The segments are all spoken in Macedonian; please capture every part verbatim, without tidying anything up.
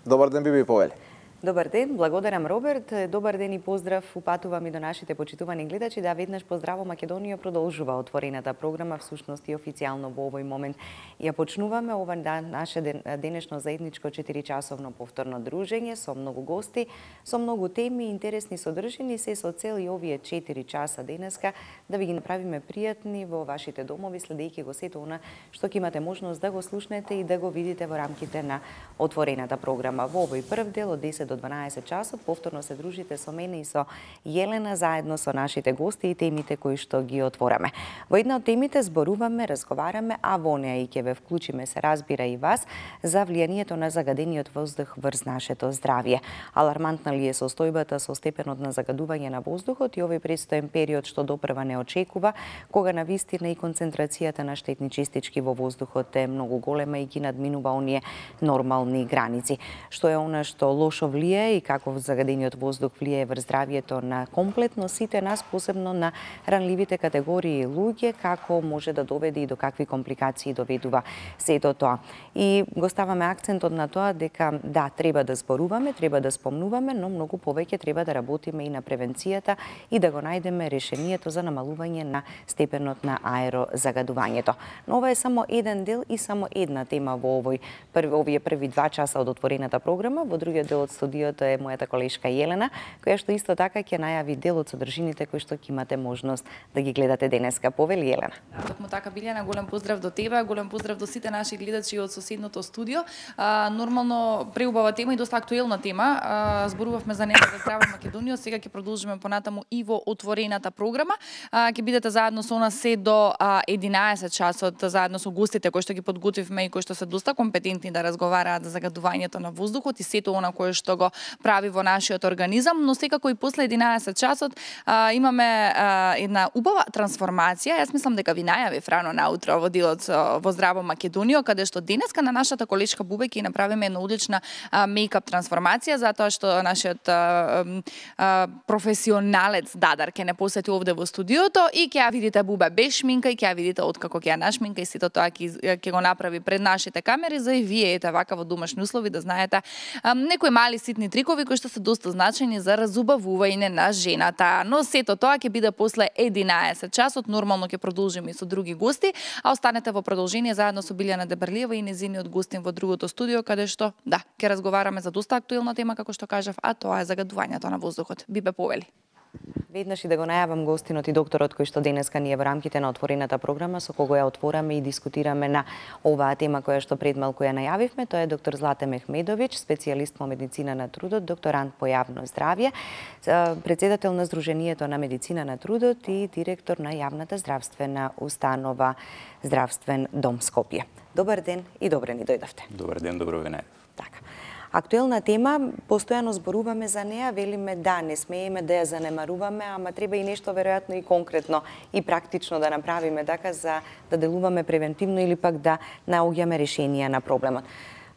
Добар ден, Биби Повели. Добар ден, благодарам Роберт. Добар ден и поздрав упатувам и до нашите почитувани гледачи. Да, веднаш поздраво Македонија продолжува отворената програма, всушност и официјално во овој момент. Ја почнуваме ова да, наше денешно заедничко четиричасовно повторно дружење со многу гости, со многу теми, интересни содржини, се со цел и овие четири часа денеска да ви ги направиме пријатни во вашите домови, следејќи го сето она што ќе имате можност да го слушнете и да го видите во рамките на отворената програма. Во овој прв дел од десет до дванаесет часот повторно се дружите со мене и со Јелена заедно со нашите гости и темите кои што ги отвораме. Во една од темите зборуваме, разговараме, а во неа и ќе ве вклучиме, се разбира и вас, за влијанието на загадениот воздух врз нашето здравје. Алармантна ли е состојбата со степенот на загадување на воздухот и овој престоен период што допрва не очекува, кога навистина и концентрацијата на штетни честички во воздухот е многу голема и ги надминува оние нормални граници. Што е она што лошо влијае и како загадениот воздух влијае врз здравјето на комплетно сите нас, посебно на ранливите категории луѓе, како може да доведе и до какви компликации доведува сето тоа. И го ставаме акцентот на тоа дека да, треба да зборуваме, треба да спомнуваме, но многу повеќе треба да работиме и на превенцијата и да го најдеме решението за намалување на степенот на аерозагадувањето. Но ова е само еден дел и само една тема во овој први, овие први два часа од отворената програма. Во другиот дел од студиото е мојата колешка Јелена, која што исто така ќе најави дел од содржините кои што ќе имате можност да ги гледате денеска. Повели, Јелена. Токму така, Билјана, голем поздрав до тебе, голем поздрав до сите наши гледачи од соседното студио. А, нормално преубава тема и доста актуелна тема. А, зборувавме за неа за здрава Македонија, сега ќе продолжиме понатаму и во отворената програма. А, ќе бидете заедно со нас се до а, единаесет часот, заедно со гостите кои што ги подготвивме и кои што се доста компетентни да разговараат за загадувањето на воздухот и сето она кое што го прави во нашиот организам, но секако и после единаесет часот а, имаме а, една убава трансформација. Јас мислам дека ви најавив рано наутро во делот во Здраво Македонија, каде што денеска на нашата колешка Бубе ќе направиме една одлична а, мејкап трансформација, затоа што нашиот а, а, професионалец Дадар ќе не посети овде во студиото и ќе ја видите Бубе без шминка и ќе ја видите откако ќе ја нашминка и сето тоа ќе ќе го направи пред нашите камери за и вие ете вака во домашни услови да знаете а, некои мали ситни трикови кои што се доста значени за разубавување на жената. Но сето тоа ќе биде после единаесет часот, нормално ќе продолжиме и со други гости, а останете во продолжение заедно со Билјана Дебрлиева и незиниот гостин во другото студио, каде што, да, ќе разговараме за доста актуелна тема, како што кажав, а тоа е загадувањето на воздухот. Бибе Повели. Веднаш и да го најавам гостинот и докторот кој што денеска ни е во рамките на отворената програма, со кого ја отвораме и дискутираме на оваа тема која што пред малку ја најавивме. Тоа е доктор Злате Мехмедовиќ, специјалист по медицина на трудот, докторант по јавно здравје, претседател на Сдруженијето на медицина на трудот и директор на јавната здравствена установа Здравствен дом Скопје. Добар ден и добре ни дојдовте. Добар ден, добро ве најдов. Така. Актуелна тема, постојано зборуваме за неа, велиме да, не смееме да ја занемаруваме, ама треба и нешто веројатно и конкретно и практично да направиме така за да делуваме превентивно или пак да наоѓаме решенија на проблемот.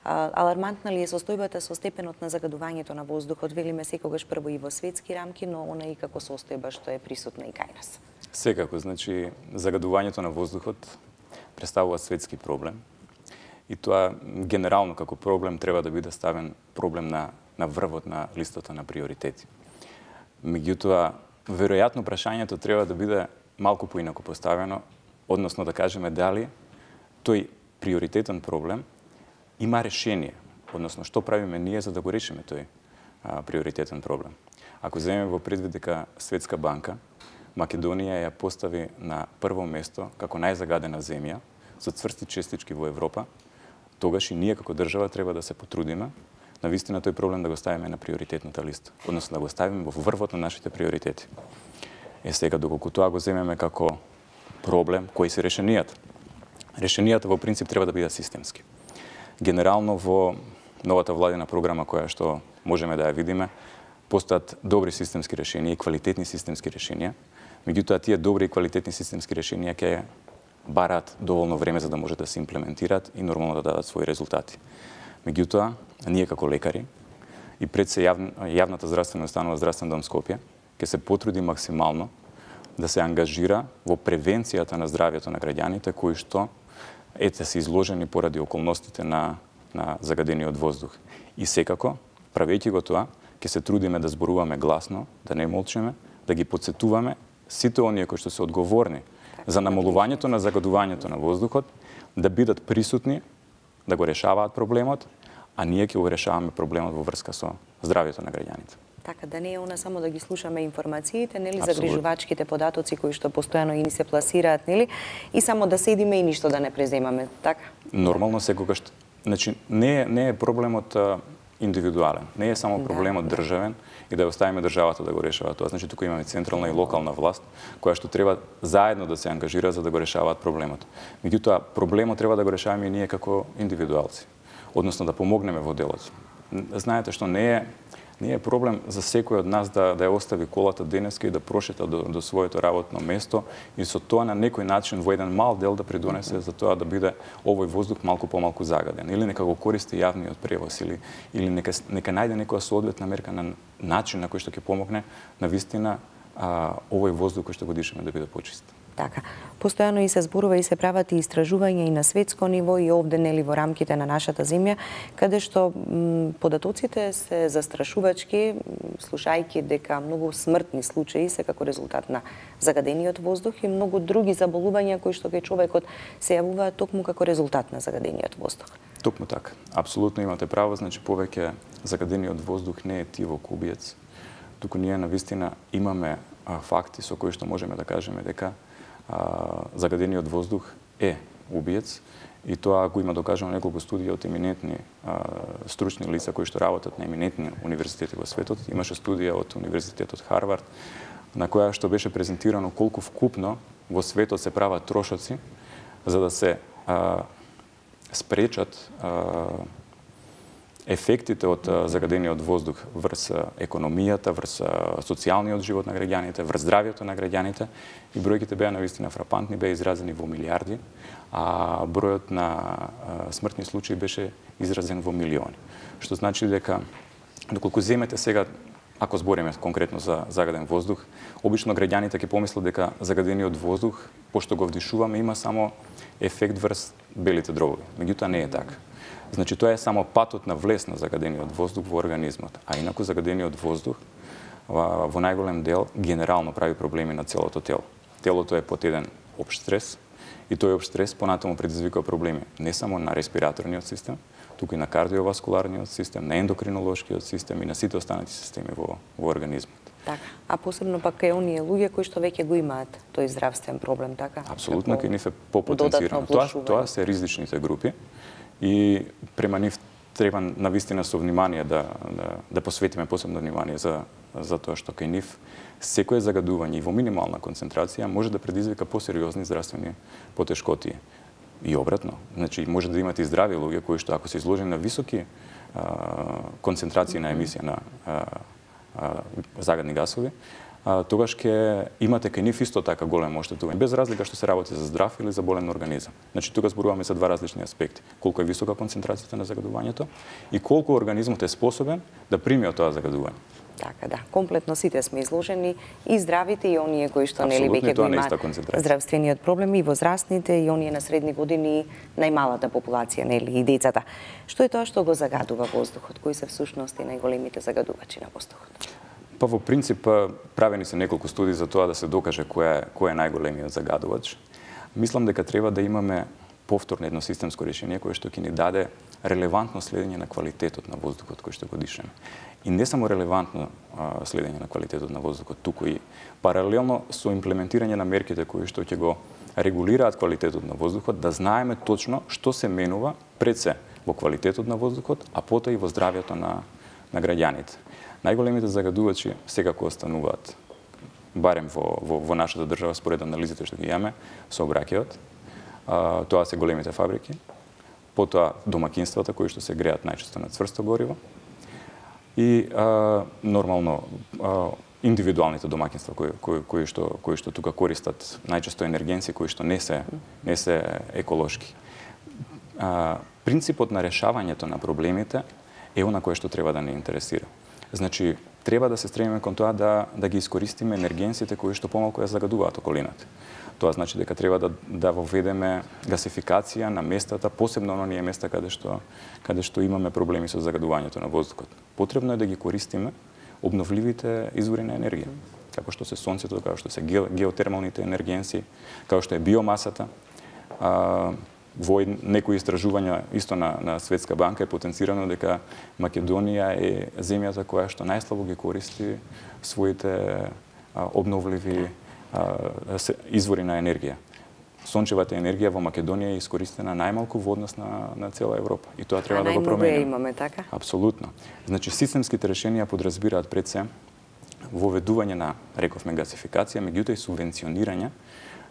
Алармантна ли е состојбата со степенот на загадувањето на воздухот? Велиме секогаш прво и во светски рамки, но она и како состојба што е присутна и кај нас. Секако, значи загадувањето на воздухот представува светски проблем. И тоа генерално како проблем треба да биде ставен проблем на, на врвот на листата на приоритети. Меѓутоа, веројатно прашањето треба да биде малку поинаку поставено, односно да кажеме дали тој приоритетен проблем има решение, односно што правиме ние за да го решиме тој а, приоритетен проблем. Ако земеме во предвид дека Светска банка Македонија ја постави на прво место како најзагадена земја со цврсти честички во Европа, тогаш и ние како држава треба да се потрудиме навистина тој проблем да го ставиме на приоритетната листа, односно да го ставиме во врвот на нашите приоритети. Е сега, доколку тоа го земеме како проблем, кои се решенијата? Решенијата во принцип треба да бидат системски. Генерално во новата владина програма која што можеме да ја видиме, постојат добри системски решенија и квалитетни системски решенија, меѓутоа тие добри и квалитетни системски решенија ќе бараат доволно време за да може да се имплементираат и нормално да дадат своји резултати. Меѓутоа, ние како лекари и пред се јав... јавната здравствена установа Здравствен дом Скопје ќе се потруди максимално да се ангажира во превенцијата на здравјето на граѓаните кои што ете се изложени поради околностите на на загадениот воздух. И секако, правејќи го тоа, ќе се трудиме да зборуваме гласно, да не молчиме, да ги потсетуваме сите оние кои што се одговорни за намалувањето на загадувањето на воздухот, да бидат присутни, да го решаваат проблемот, а ние ќе го решаваме проблемот во врска со здравјето на граѓаните. Така, да не е она само да ги слушаме информациите, нели, загрижувачките податоци кои што постојано и ни се пласираат, нели, и само да седиме и ништо да не преземаме, така? Нормално секогаш, значи не е, не е проблемот а, индивидуален, не е само проблемот да, државен и да оставиме државата да го решава тоа. Значи тука имаме централна и локална власт која што треба заедно да се ангажира за да го решаваат проблемот. Меѓутоа проблемот треба да го решаваме и ние како индивидуалци, односно да помогнеме во делот. Знаете што не е Не е проблем за секој од нас да, да ја остави колата денеска и да прошета до, до своето работно место и со тоа на некој начин во еден мал дел да придонесе за тоа да биде овој воздух малку помалку загаден. Или нека го користи јавниот превоз, или, или нека, нека најде некоја соодветна мерка на начин на кој што ќе помогне на вистина а, овој воздух кој што го дишаме да биде почист. Така. Постојано и се зборува и се прават и истражувања и на светско ниво и овде, нели, во рамките на нашата земја, каде што м, податоците се застрашувачки, слушајќи дека многу смртни случаи се како резултат на загадениот воздух и многу други заболувања кои што кај човекот се јавуваат токму како резултат на загадениот воздух. Токму така. Апсолутно имате право, значи повеќе загадениот воздух не е тивок убиец, туку ние навистина имаме а, факти со кои што можеме да кажеме дека А, загадениот воздух е убиец и тоа го има докажано неколку студии од еминентни а, стручни лица кои што работат на еминентни универзитети во светот. Имаше студија од универзитетот Харвард на која што беше презентирано колку вкупно во светот се прават трошоци за да се а, спречат а, ефектите од загадениот воздух врз економијата, врз социјалниот живот на граѓаните, врз здравјето на граѓаните и бројките беа навистина фрапантни, беа изразени во милиарди, а бројот на смртни случаи беше изразен во милиони. Што значи дека доколку земете сега, ако збориме конкретно за загаден воздух, обично граѓаните ќе помислат дека загадениот воздух, пошто го вдишуваме, има само ефект врз белите дробови. Меѓутоа не е така. Значи тоа е само патот на влез на загадениот воздух во организмот, а инаку загадениот воздух во, во најголем дел генерално прави проблеми на целото тело. Телото е под еден општ стрес и тој општ стрес понатаму предизвикува проблеми не само на респираторниот систем, туку и на кардиоваскуларниот систем, на ендокринолошкиот систем и на сите останати системи во, во организмот. Така, а посебно пак кај оние луѓе кои што веќе го имаат тој здравствен проблем, така? Апсолутно, кај нив е попотенцирано. Тоа, тоа се ризичните групи и према нив треба навистина со внимание да, да, да посветиме посебно внимание за, за тоа што кај нив секое загадување и во минимална концентрација може да предизвика посериозни здравствени потешкоти. И обратно, значи може да имате и здрави луѓе кои што ако се изложени на високи а, концентрации на емисија на а, а, загадни гасови, а, тогаш ќе имате кај нив исто така големо оштетување, без разлика што се работи за здрав или за болен организам. Значи тука зборуваме за два различни аспекти. Колку е висока концентрацијата на загадувањето и колку организмот е способен да прими од тоа загадување. Така, да. Комплетно сите сме изложени, и здравите, и оние кои што нели веќе го имаат здравствениот проблем, и возрастните, и оние на средни години, најмалата популација, нели, и децата. Што е тоа што го загадува воздухот? Кои се всушност најголемите загадувачи на воздухот? Па во принцип правени се неколку студии за тоа да се докаже кој е кој е најголемиот загадувач. Мислам дека треба да имаме повторно едно системско решение кое што ќе ни даде релевантно следење на квалитетот на воздухот кој што го дишаме. И не само релевантно а, следење на квалитетот на воздухот, туку и паралелно со имплементирање на мерките кои што ќе го регулираат квалитетот на воздухот, да знаеме точно што се менува пред се во квалитетот на воздухот, а потоа и во здравјето на, на граѓаните. Најголемите загадувачи секако остануваат, барем во, во, во нашата држава, според анализите што ги имаме, сообраќајот. А, тоа се големите фабрики, потоа домакинствата кои што се греат најчесто на цврсто гориво и а, нормално а, индивидуалните домакинства кои, кои, кои, што, кои што тука користат најчесто енергенци кои што не се, не се еколошки. А, принципот на решавањето на проблемите е она кое што треба да не интересира. Значи, треба да се стремиме кон тоа да, да ги искористиме енергенците кои што помалку ја загадуваат околината. Тоа значи дека треба да да воведеме гасификација на местата, посебно на оние места каде што каде што имаме проблеми со загадувањето на воздухот. Потребно е да ги користиме обновливите извори на енергија, како што се сонцето, како што се геотермалните енергенси, како што е биомасата. А, во некои истражувања исто на, на Светска банка е потенцирано дека Македонија е земјата која што најслабо ги користи своите а, обновливи а, извори на енергија. Сончевата енергија во Македонија е искористена најмалку во однос на, на цела Европа. И тоа треба а да го промениме. имаме, така? Апсолутно. Значи, системските решенија подразбираат пред се воведување на, рековме, гасификација, меѓутоа и субвенционирање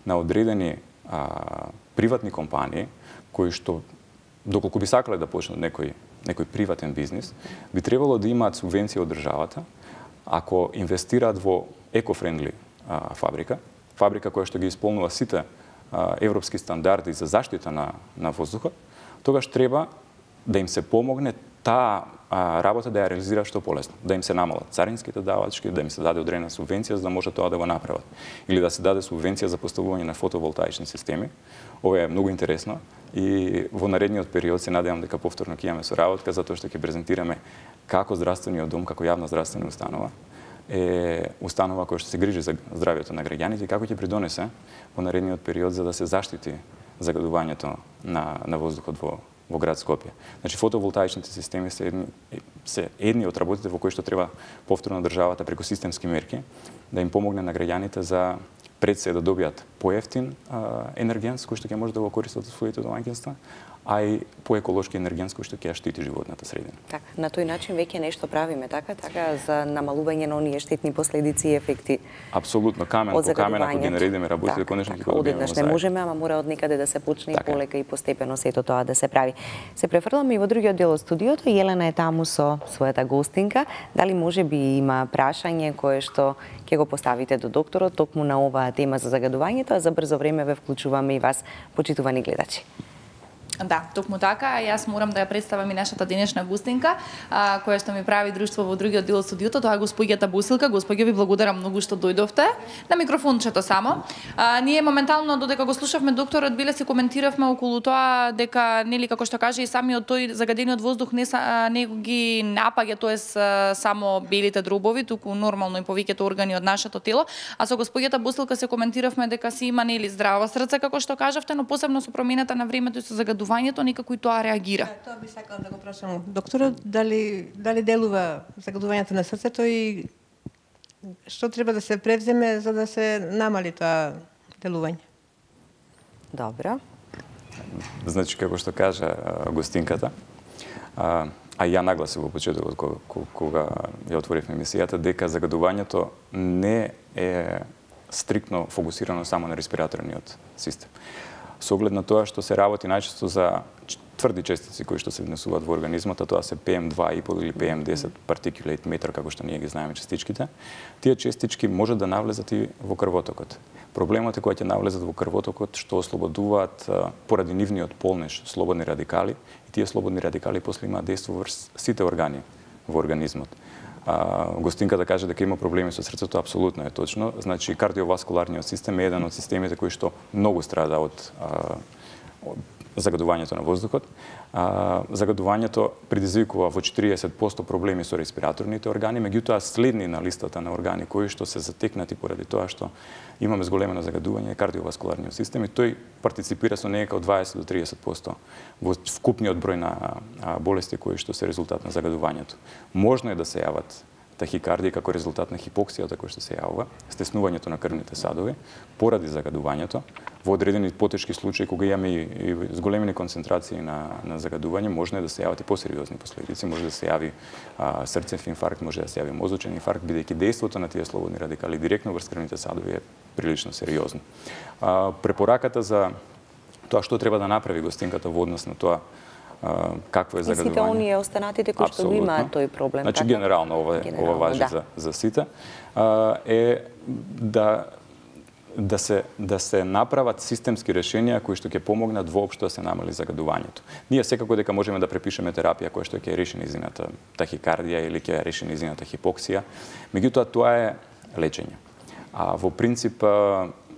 на одредени а, приватни компании, кои што, доколку би сакале да почнат некој, некој приватен бизнис, би требало да имаат субвенција од државата, ако инвестираат во екофрендли а, фабрика, фабрика која што ги исполнува сите а, европски стандарди за заштита на, на воздухот, тогаш треба да им се помогне таа а, работа да ја реализира што полесно, да им се намалат царинските давачки, да им се даде одредена субвенција за да може тоа да го направат, или да се даде субвенција за поставување на фотоволтаични системи. Ова е многу интересно и во наредниот период се надевам дека повторно ќе имаме соработка, затоа што ќе презентираме како здравствениот дом, како јавна здравствена установа е установа која што се грижи за здравјето на граѓаните и како ќе придонесе во наредниот период за да се заштити загадувањето на, на воздухот во во град Скопје. Значи, фотоволтаичните системи се едни, се едни од работите во кои што треба повторно државата преку системски мерки да им помогне на граѓаните за пред се да добијат поевтин а, енергенс кој што ќе може да го користат во своите домаќинства, а и поеколошки енергенс кој што ќе ја штити животната средина. Така, на тој начин веќе нешто правиме, така, така за намалување на оние штетни последици и ефекти. Апсолутно, камен по камен, ако ги наредиме работите, така, конечно ќе така, го добиеме. Одеднаш не можеме, ама мора од некаде да се почне така. И полека и постепено сето тоа да се прави. Се префрламе и во другиот дел од студиото. Јелена е таму со својата гостинка. Дали може би има прашање кое што ќе го поставите до докторот токму на оваа тема за загадувањето, а за брзо време ве вклучуваме и вас, почитувани гледачи. Да, токму така, јас морам да ја представам и нашата денешна гостинка, а, која што ми прави друштво во другиот дел од студиото, тоа е госпоѓата Бусилка. Госпоѓа, ви благодарам многу што дојдовте. На микрофончето само. А, ние моментално додека го слушавме докторот, биле се коментиравме околу тоа дека нели како што каже и самиот тој загадениот воздух не са, не ги напаѓа, тоест само белите дробови, туку нормално и повеќето органи од нашето тело, а со госпоѓата Бусилка се коментиравме дека си има нели здраво срце како што кажавте, но посебно со промената на времето и со загадувањето некако и тоа реагира. Да, тоа би сакала да го прашам докторот, дали дали делува загадувањето на срцето и што треба да се превземе за да се намали тоа делување? Добро. Значи, како што кажа гостинката, а, а ја нагласив во почетокот кога, кога ја отворивме емисијата, дека загадувањето не е стриктно фокусирано само на респираторниот систем. Со оглед на тоа што се работи најчесто за тврди честици кои што се внесуваат во организмот, а тоа се Пе Ем два и пет или Пе Ем десет particulate matter, како што ние ги знаеме частичките, тие честички може да навлезат и во крвотокот. Проблемот е кога ќе навлезат во крвотокот што ослободуваат поради нивниот полнеж слободни радикали и тие слободни радикали после имаат дејство врз сите органи во организмот. А, гостинката да каже дека има проблеми со срцето, апсолутно е точно. Значи, кардиоваскуларниот систем е еден од системите кои што многу страда од, а, од загадувањето на воздухот. А, загадувањето предизвикува во четириесет проценти проблеми со респираторните органи, меѓутоа следни на листата на органи кои што се затекнати поради тоа што имаме зголемено загадување е кардиоваскуларниот систем и тој партиципира со некако од дваесет до триесет проценти во вкупниот број на болести кои што се резултат на загадувањето. Можно е да се јават тахикардија како резултат на хипоксијата која што се јавува, стеснувањето на крвните садови поради загадувањето. Во одредени потешки случаи кога имаме и, и зголемени концентрации на, на загадување, можно е да се јават и посериозни последици, може да се јави а, срцев инфаркт, може да се јави мозочен инфаркт, бидејќи дејството на тие слободни радикали директно врз крвните садови е прилично сериозно. А, препораката за тоа што треба да направи гостинката во однос на тоа какво е загадување. И сите оние останатите кои што имаат тој проблем. Значи, така? генерално ова, генерално, ова важи да. за, за сите, а, е да да се да се направат системски решенија кои што ќе помогнат воопшто да се намали загадувањето. Ние секако дека можеме да препишеме терапија која што ќе реши низината тахикардија или ќе реши низината хипоксија, меѓутоа тоа е лечење. А во принцип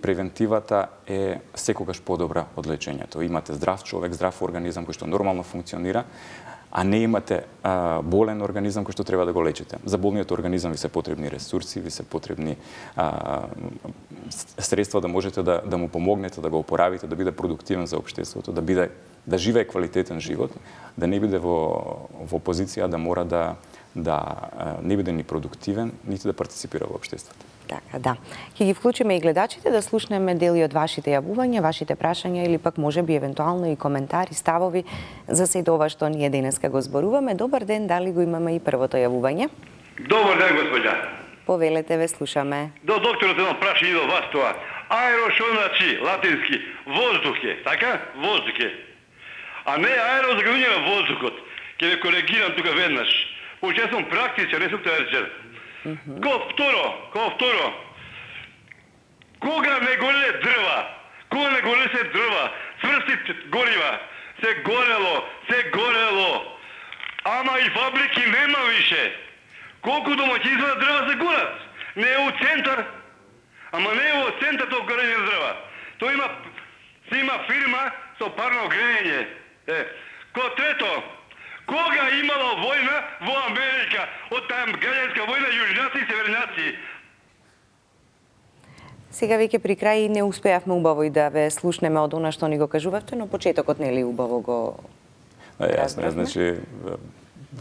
превентивата е секогаш подобра од лечењето. Имате здрав човек, здрав организам кој што нормално функционира, а не имате а, болен организам кој што треба да го лечите. За болниот организам ви се потребни ресурси, ви се потребни а, средства да можете да, да му помогнете, да го опоравите, да биде продуктивен за општеството, да биде да живее квалитетен живот, да не биде во во позиција да мора да да не биде ни продуктивен, нити да партиципира во општеството. Така, да. Ќе ги вклучиме и гледачите да слушнеме дели од вашите јавувања, вашите прашања или пак можеби евентуално и коментари, ставови за сето ова што ние денеска го зборуваме. Добар ден, дали го имаме и првото јавување? Добар ден, господја. Повелете, ве слушаме. До докторот едно прашање до вас тоа. Аеро што значи латински воздух е, така? Воздух е. А не аеро загадување на воздухот. Ќе ве коригирам тука веднаш. Почеја сум практичен, не сум теоретичар. Ко второ, ко второ, кога не гореле дрва, кога не гореле се дрва, цврсти горива, се горело, се горело, ама и фабрики нема више. Колку домаќинства дрва се горат? Не е у центар, ама не е во центар тоа горење на дрва. Тоа има, се има фирма со парно грејење. Е, ко трето, кога имало војна во Америка, од таа граѓанска војна, јужњаци и северњаци? Сега веќе при крај не успеавме убаво и да ве слушнеме од она што ни го кажувавте, но почетокот нели убаво го Јасно, значи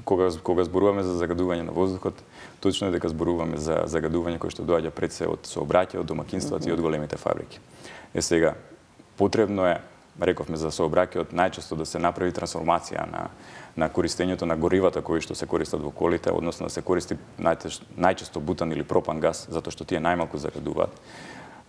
кога кога зборуваме за загадување на воздухот, точно е дека зборуваме за загадување кој што доаѓа пред се од сообраќај, од домакинствата mm -hmm. и од големите фабрики. Е сега потребно е, рековме за сообраќајот, најчесто да се направи трансформација на на користењето на горивата кои што се користат во колите, односно да се користи најчесто бутан или пропан газ, затоа што тие најмалку загадуваат.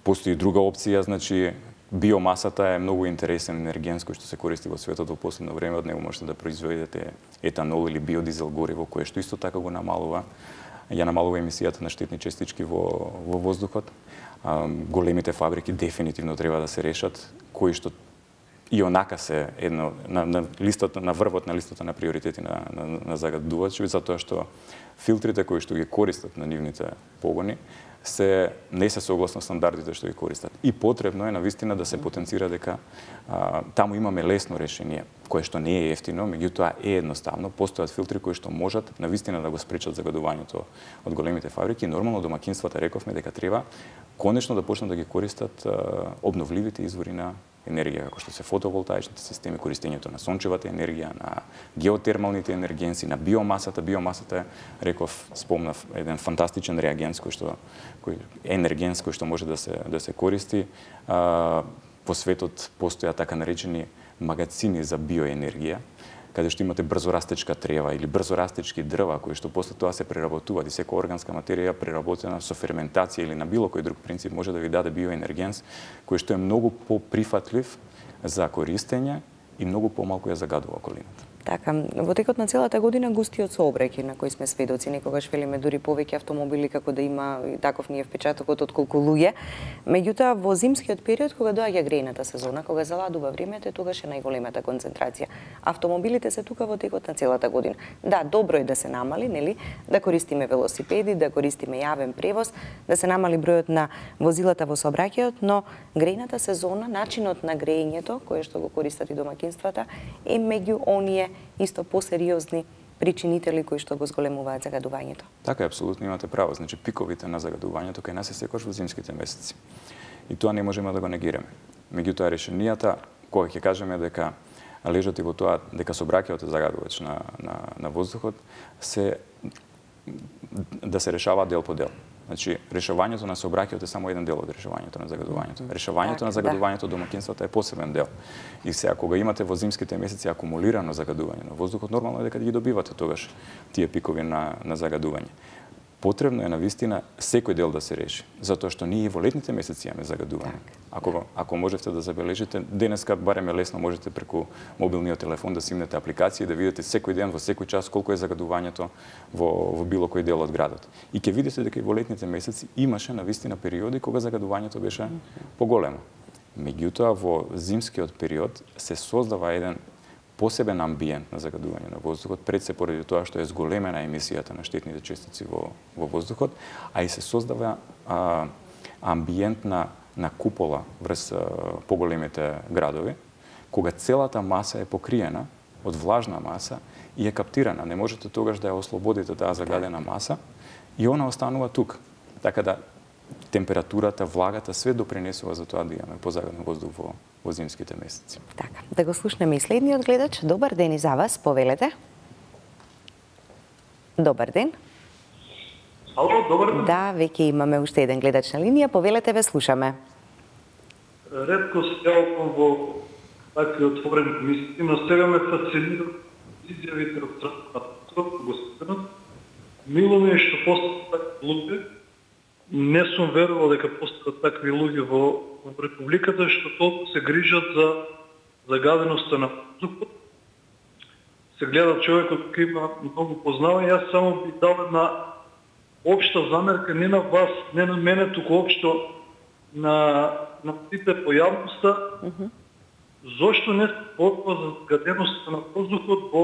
Постои друга опција, значи биомасата е многу интересен енерген кој што се користи во светот во последно време, од него можете да произведете етанол или биодизел гориво, кое што исто така го намалува, ја намалува емисијата на штетни частички во во воздухот. А, големите фабрики дефинитивно треба да се решат, кои што и онака се едно на, на листата на врвот на листата на приоритети на на, на загадувачи, затоа што филтрите кои што ги користат на нивните погони се не се согласно стандардите што ги користат. И потребно е навистина да се потенцира дека а, таму имаме лесно решение, кое што не е ефтино, меѓутоа е едноставно. Постојат филтри кои што можат навистина да го спречат загадувањето од големите фабрики. Нормално домакинствата рековме дека треба конечно да почнат да ги користат а, обновливите извори на енергија, како што се фотоволтаичните системи, користењето на сончевата енергија, на геотермалните енергенси, на биомасата. Биомасата, реков, спомнав, еден фантастичен реагенс кој што кој енергенс кој што може да се да се користи. А, по светот постојат така наречени магацини за биоенергија, каде што имате брзорастечка трева или брзорастечки дрва кои што после тоа се преработуваат и секоја органска материја преработена со ферментација или на било кој друг принцип може да ви даде биоенергенс кој што е многу поприфатлив за користење и многу помалку ја загадува околината. Така, во текот на целата година густиот сообраќај на кој сме сведоци, некогаш велиме дури повеќе автомобили како да има таков ние впечатокот од колку луѓе. Меѓутоа во зимскиот период кога доаѓа грејната сезона, кога заладува времето, тогаш е најголемата концентрација. Автомобилите се тука во текот на целата година. Да, добро е да се намали, нели, да користиме велосипеди, да користиме јавен превоз, да се намали бројот на возилата во сообраќајот, но грејната сезона, начинот на грејењето, кое што го користат и домакинствата, е меѓу оние исто посериозни причинители кои што го зголемуваат загадувањето. Така е, апсолутно имате право. Значи пиковите на загадувањето кај нас е секогаш во зимските месеци. И тоа не можеме да го негираме. Меѓутоа решенијата кога ќе кажеме дека лежат и во тоа дека сообраќајот е загадувач на на на воздухот се да се решава дел по дел. Значи, решавањето на сообраќајот е само еден дел од решавањето на загадувањето. Решавањето на загадувањето од домакинствата е посебен дел. И сега, кога имате во зимските месеци акумулирано загадување на воздухот, нормално е дека ги добивате тогаш тие пикови на, на загадување. Потребно е навистина секој дел да се реши, затоа што ние во летните месеци имаме загадување. Ако ако можете да забележите, денеска барем е лесно можете преку мобилниот телефон да симнете апликација и да видите секој ден во секој час колку е загадувањето во во било кој дел од градот. И ќе видите дека и во летните месеци имаше навистина периоди кога загадувањето беше поголемо. Меѓутоа во зимскиот период се создава еден посебен амбиент на загадување на воздухот, пред се поради тоа што е зголемена емисијата на штетните честици во, во воздухот, а и се создава а, амбиент на на купола врз поголемите градови, кога целата маса е покриена од влажна маса и е каптирана. Не можете тогаш да ја ослободите таа загадена маса и она останува тук. Така да температурата, влагата, све допринесува за тоа да имаме позагаден воздух во, во зимските месеци. Така, да го слушнеме и следниот гледач. Добар ден и за вас, повелете. Добар ден. Ало, добар ден. Да, веќе имаме уште еден гледач на линија. Повелете, ве слушаме. Ретко се јавам во такви отворени комисии, но сега ме фасцинира изјавите од страна на господинот. Мило ми е што постојат такви луѓе. Не сум верувал дека постојат такви луѓе во, во Републиката, што толку се грижат за загаденоста на воздухот. Се гледа човекот кој има многу познавање. Јас само би дал една општа замерка, не на вас, не на мене, туку општо на, на сите по јавноста. Uh-huh. Зошто не се борба за загаденоста на воздухот во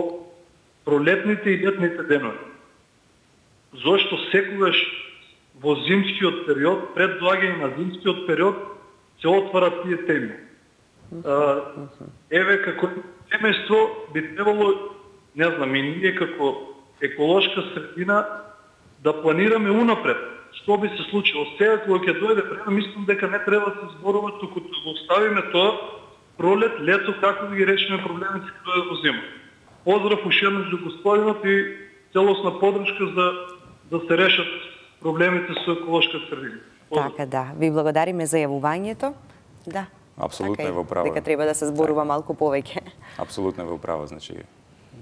пролетните и летните денови? Зошто секогаш во зимскиот период, пред доаѓање на зимскиот период, се отварат тие теми? Uh-huh. Еве, како семејство би требало, не знам, и ние како еколошка средина да планираме унапред што би се случило. Сега кога ќе дојде време, мислам дека не треба да се зборува, туку да го оставиме тоа пролет, лето, како да ги решиме проблемите кога дојде во зима. Поздрав уште еднаш до господинот и целосна подршка за да се решат проблемите со еколошка средина. Така да, ви благодариме за јавувањето. Да. Апсолутно така е во право. Дека треба да се зборува малку повеќе. Апсолутно е во право, значи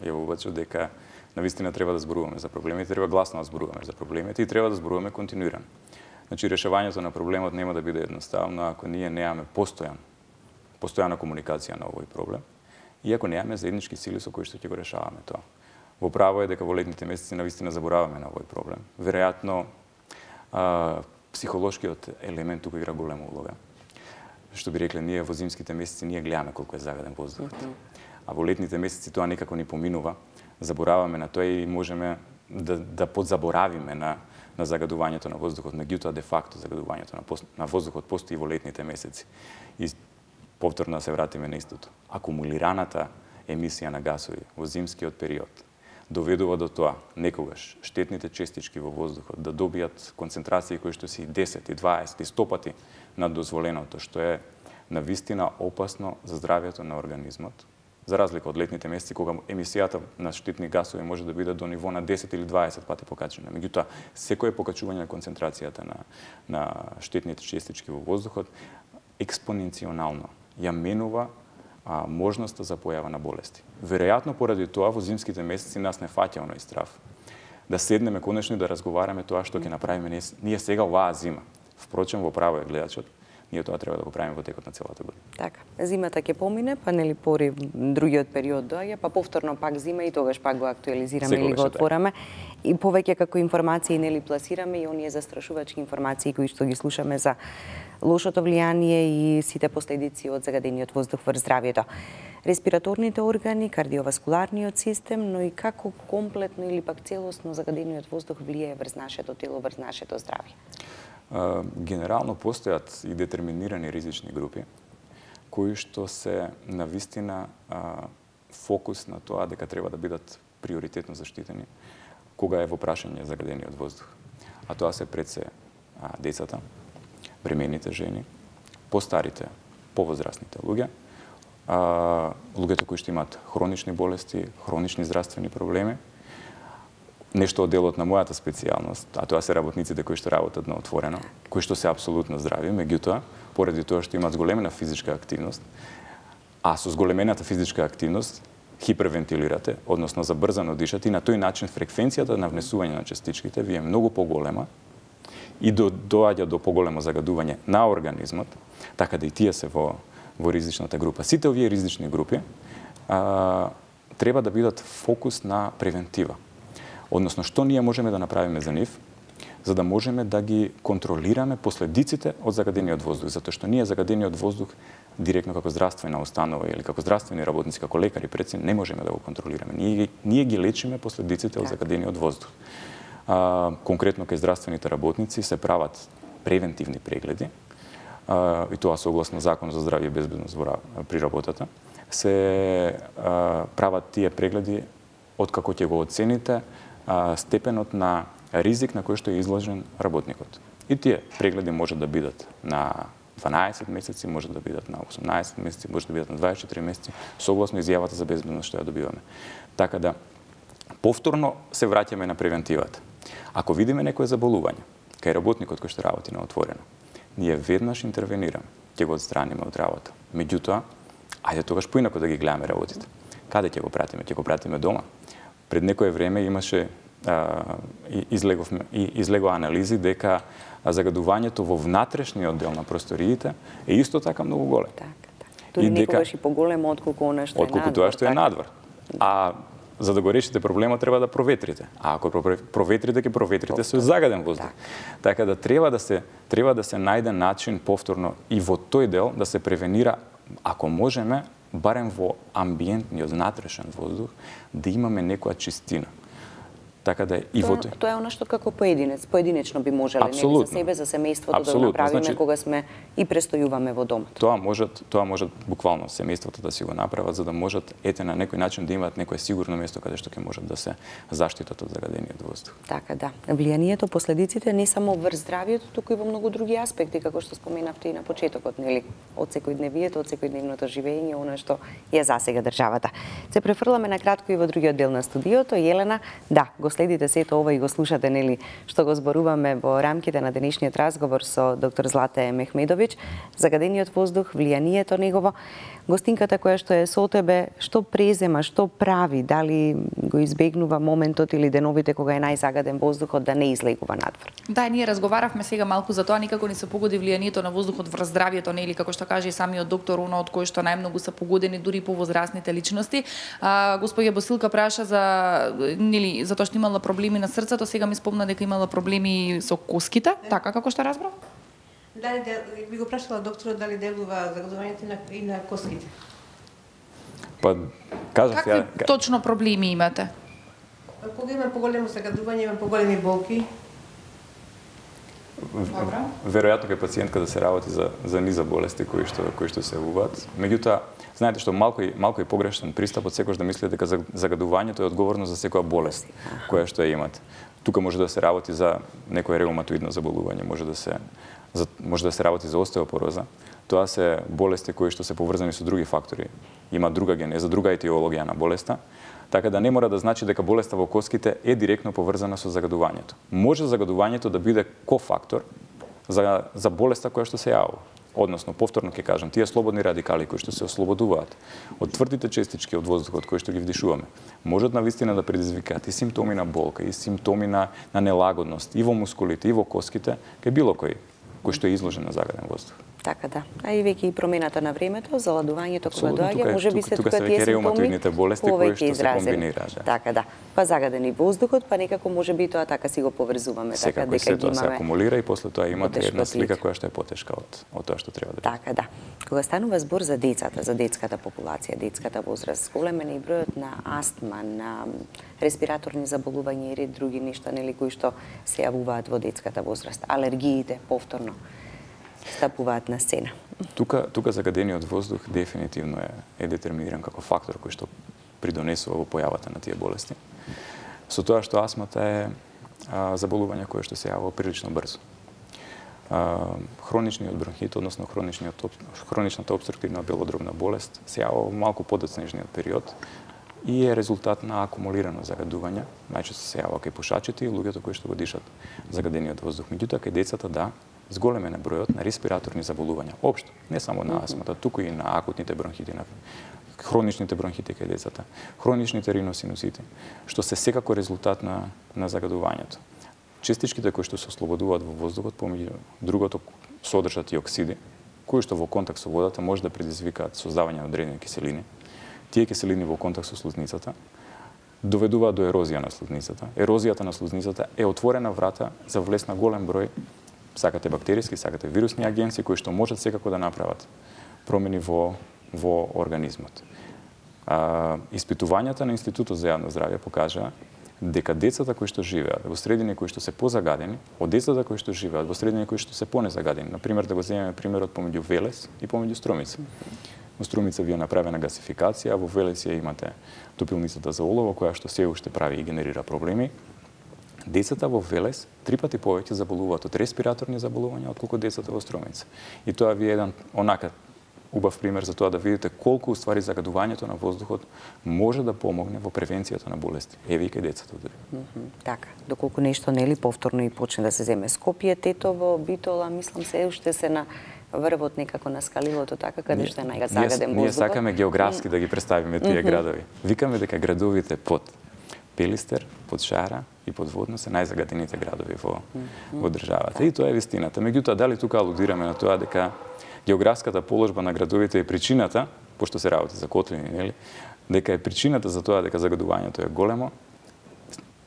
јавувачот дека навистина треба да зборуваме за проблемите, треба гласно да зборуваме за проблемите и треба да зборуваме континуирано. Значи решавањето на проблемот нема да биде едноставно ако ние немаме постојан постојана комуникација на овој проблем и ако немаме заеднички сили со кои што ќе го решаваме тоа. Во право е дека во летните месеци навистина забораваме на овој проблем. Веројатно а, психолошкиот елемент тука игра голема улога. Што би рекле, ние во зимските месеци ние гледаме колку е загаден воздухот. А во летните месеци тоа некако ни поминува, забораваме на тоа и можеме да, да подзаборавиме на, на загадувањето на воздухот. Меѓутоа, де факто, загадувањето на, на воздухот постои во летните месеци. И повторно да се вратиме на истото. Акумулираната емисија на гасови во зимскиот период доведува до тоа некогаш штетните честички во воздухот да добијат концентрации кои што си десет, дваесет и сто пати над дозволеното, што е навистина опасно за здравјето на организмот. За разлика од летните месеци, кога емисијата на штетни гасови може да биде до ниво на десет или дваесет пати покачена. Меѓутоа, секое покачување на концентрацијата на, на штетните честички во воздухот експоненционално ја менува а, можноста за појава на болести. Веројатно поради тоа во зимските месеци нас не фаќа оној страв да седнеме конечно и да разговараме тоа што ќе направиме ние сега оваа зима. Впрочем, во право е гледачот, ние тоа треба да го правиме во текот на целата година. Така, зимата ќе помине, па нели пори другиот период доаѓа, па повторно пак зима и тогаш пак го актуализираме или го отвораме. И повеќе како информации нели пласираме и оние застрашувачки информации кои што ги слушаме за лошото влијание и сите последици од загадениот воздух врз здравјето. Респираторните органи, кардиоваскуларниот систем, но и како комплетно или пак целосно загадениот воздух влијае врз нашето тело, врз нашето здравје. Генерално постојат и детерминирани ризични групи кои што се навистина фокус на тоа дека треба да бидат приоритетно заштитени кога е во прашање загадениот воздух. А тоа се пред се децата, бремените жени, постарите, повозрастните луѓе, луѓето кои што имаат хронични болести, хронични здравствени проблеми. Нешто од делот на мојата специјалност, а тоа се работниците кои што работат на отворено, кои што се апсолутно здрави, меѓутоа, поради тоа што имаат зголемена физичка активност, а со зголемената физичка активност хипервентилирате, односно забрзано дишате и на тој начин фреквенцијата на внесување на частичките ви е многу поголема и до, доаѓа до поголемо загадување на организмот, така да и тие се во, во ризичната група. Сите овие ризични групи а, треба да бидат фокус на превентива. Односно, што ние можеме да направиме за нив, за да можеме да ги контролираме последиците од загадениот воздух, затоа што ние загадениот воздух директно како здравствена установа или како здравствени работници, како лекари, пред се не можеме да го контролираме. Ние, ние ги лечиме последиците од загадениот воздух. А, конкретно кај здравствените работници се прават превентивни прегледи, а, и тоа согласно Закон за здравје и безбедност при работата, се а, прават тие прегледи откако ќе го оцените а, степенот на ризик на кој што е изложен работникот. И тие прегледи може да бидат на дванаесет месеци, може да бидат на осумнаесет месеци, може да бидат на дваесет и четири месеци, согласно изјавата за безбедност што ја добиваме. Така да, повторно се враќаме на превентивата. Ако видиме некое заболување, кај работникот кој што работи на отворено, ние веднаш интервенираме, ќе го отстраниме од работа. Меѓутоа, ајде тогаш поинако да ги гледаме работите. Каде ќе го пратиме? Ќе го пратиме дома. Пред некое време имаше а, излеговме, излегоа анализи дека загадувањето во внатрешниот дел на просториите е исто така многу голем. Така, така. Дури некогаш и поголемо отколку она што е надвор. Отколку тоа што е надвор. А за да го решите проблемот треба да проветрите. А ако проветрите, ќе проветрите со загаден воздух. Така да треба да се треба да се најде начин повторно и во тој дел да се превенира, ако можеме, барем во амбиентниот внатрешен воздух, да имаме некоја чистина. Така да и во тој. Тоа е она што како поединец, поединечно би можеле нели за себе, за семејството да го направиме, значи, кога сме и престојуваме во домот. Тоа можат, тоа можат буквално семејството да си го направат за да можат ете на некој начин да имаат некое сигурно место каде што ќе можат да се заштитат од загадениот воздух. Така да. Влијанието, последиците не само врз здравјето, туку и во многу други аспекти, како што споменавте и на почетокот, нели, од секојдневието, од секојдневното живење, она што ја засега државата. Се префрламе на кратко и во другиот дел на студиото. Елена, да, го следите сето ова и го слушате, нели, што го зборуваме во рамките на денешниот разговор со доктор Злате Мехмедовиќ, загадениот воздух, влијанието негово. Гостинката која што е со тебе, што презема, што прави, дали го избегнува моментот или деновите кога е најзагаден воздухот да не излегува надвор? Да, ние разговаравме сега малку за тоа, никако не се погоди влијанието на воздухот врз здравјето, нели, како што каже и самиот доктор, оно од кој што најмногу се погодени дури повозрасните личности. А, господја Босилка праша за, нели, за тоа што имала проблеми на срцето, сега ми спомна дека имала проблеми со коските, така како што разбрав? Дали би го прашала докторот дали делува загадувањето на, и на коските? Па, кажав ја... Какви точно проблеми имате? Кога има поголемо загадување, има поголеми болки. Добра. Веројатно кај пациентка да се работи за за низа болести кои што кои што се јавуваат. Меѓутоа, знаете што малку и малку и погрешен пристап од секојаш да мисли дека загадувањето е одговорно за секоја болест која што ја имате. Тука може да се работи за некое реуматоидно заболување, може да се за, може да се работи за остеопороза. Тоа се болести кои што се поврзани со други фактори. Има друга генеза, друга етиологија на болеста. Така да не мора да значи дека болеста во коските е директно поврзана со загадувањето. Може загадувањето да биде кофактор за, за болеста која што се јавува. Односно, повторно ќе кажам, тие слободни радикали кои што се ослободуваат од тврдите честички од воздухот кои што ги вдишуваме, можат навистина да предизвикаат и симптоми на болка, и симптоми на, на нелагодност и во мускулите, и во коските, кај било кој кој што е изложен на загаден воздух. Така да. А и веќе и промената на времето, заладувањето кога доаѓа, може би се тука тие симптоми болести кои што се комбинираат. Да. Така да. Па загадени воздухот, па некако може би тоа така си го поврзуваме, така дека се тоа се акумулира и после тоа имате една слика која што е потешка од од тоа што треба да биде. Така да. Кога станува збор за децата, за детската популација, детската возраст, голем е и бројот на астма, на респираторни заболувања и ред други нешта, нели, кои што се јавуваат во детската возраст, алергиите повторно стапуваат на сцена. Тука тука загадениот воздух дефинитивно е е детерминиран како фактор кој што придонесува во појавата на тие болести. Со тоа што астмата е а, заболување кое што се јавува прилично брзо. А, хроничниот бронхит, односно хроничниот хроничната опструктивна белодробна болест се јавува во малку подоцнежниот период и е резултат на акумулирано загадување. Најчесто се јавува кај пушачите и луѓето кои што го дишат загадениот воздух. Меѓутоа кај децата да, зголемен е бројот на респираторни заболувања. Општо, не само на астмата, туку и на акутните бронхити, на хроничните бронхити кај децата, хроничните риносинусити, што се секако резултат на, на загадувањето. Честичките кои што се ослободуваат во воздухот, помеѓу другото содржат и оксиди, кои што во контакт со водата може да предизвикаат создавање на одредени киселини. Тие киселини во контакт со слузницата доведуваат до ерозија на слузницата. Ерозијата на слузницата е отворена врата за влез на голем број сакате бактериски, сакате вирусни агенции кои што можат секако да направат промени во во организмот. А, испитувањата на Институтот за јавно здравје покажаа дека децата кои што живеат во средини кои што се позагадени, од децата кои што живеат во средини кои што се понезагадени. Например, да го земеме примерот помеѓу Велес и помеѓу Струмица. Во Струмица ви е направена гасификација, во Велес ја имате топилницата за олово, која што се уште прави и генерира проблеми. Децата во Велес три пати повеќе заболуваат од респираторни заболувања отколку децата во Струмица. И тоа ви е еден онака убав пример за тоа да видите колку уствари загадувањето на воздухот може да помогне во превенцијата на болести. Еве и кај децата дури. Mm -hmm. Така, доколку нешто нели повторно и почне да се земе Скопје, Тетово, Битола, мислам се уште се на врвот некако на скалилото, така каде што е најзагаден воздухот. Ние сакаме географски да ги представиме тие mm -hmm. градови. Викаме дека градовите под Пелистер, под Шара и под Водно се најзагадените градови во, mm -hmm. во државата. Да. И тоа е вистината. Меѓутоа, дали тука алудираме на тоа дека географската положба на градовите е причината, пошто се работи за котлини, нели, дека е причината за тоа дека загадувањето е големо,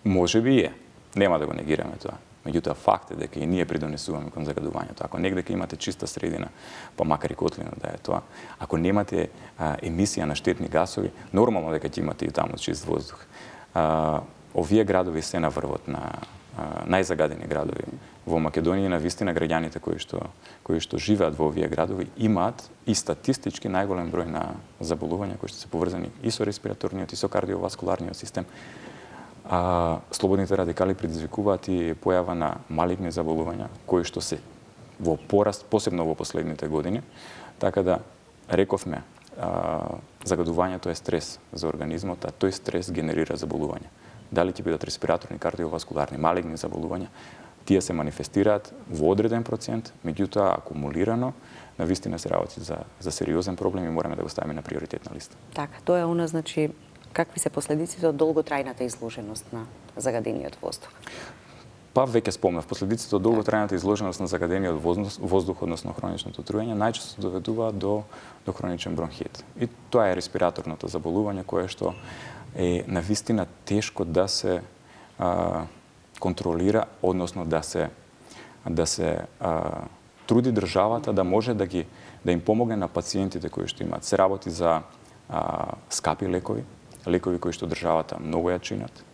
може би е. Нема да го негираме тоа. Меѓутоа, факт е дека и ние придонесуваме кон загадувањето. Ако негде дека имате чиста средина, па макар и котлина да е тоа, ако немате а, емисија на штетни гасови, нормално дека ќе имате и таму чист воздух. А, овие градови се на врвот на а, најзагадени градови во Македонија. На вистина граѓаните кои што кои што живеат во овие градови имаат и статистички најголем број на заболувања кои што се поврзани и со респираторниот и со кардиоваскуларниот систем. А, слободните радикали предизвикуваат и појава на малигни заболувања кои што се во пораст, посебно во последните години. Така да рековме, а, загадувањето е стрес за организмот, а тој стрес генерира заболувања. Дали ќе бидат респираторни, кардиоваскуларни, малигни заболувања, тие се манифестираат во одреден процент, меѓутоа акумулирано, на вистина се работи за, за сериозен проблем и мораме да го ставиме на приоритетна листа. Така, тоа е она, значи, какви се последиците од долготрајната изложеност на загадениот воздух? Па веќе спомнав, последиците од долготрајната изложеност на загадениот воздух, односно хроничното труење, најчесто доведуваат до, до хроничен бронхит. И тоа е респираторното заболување кое што е на вистина тешко да се а, контролира, односно да се да се а, труди државата да може да ги да им помогне на пациентите кои што имаат. Се работи за а, скапи лекови, лекови кои што државата многу ја чинат,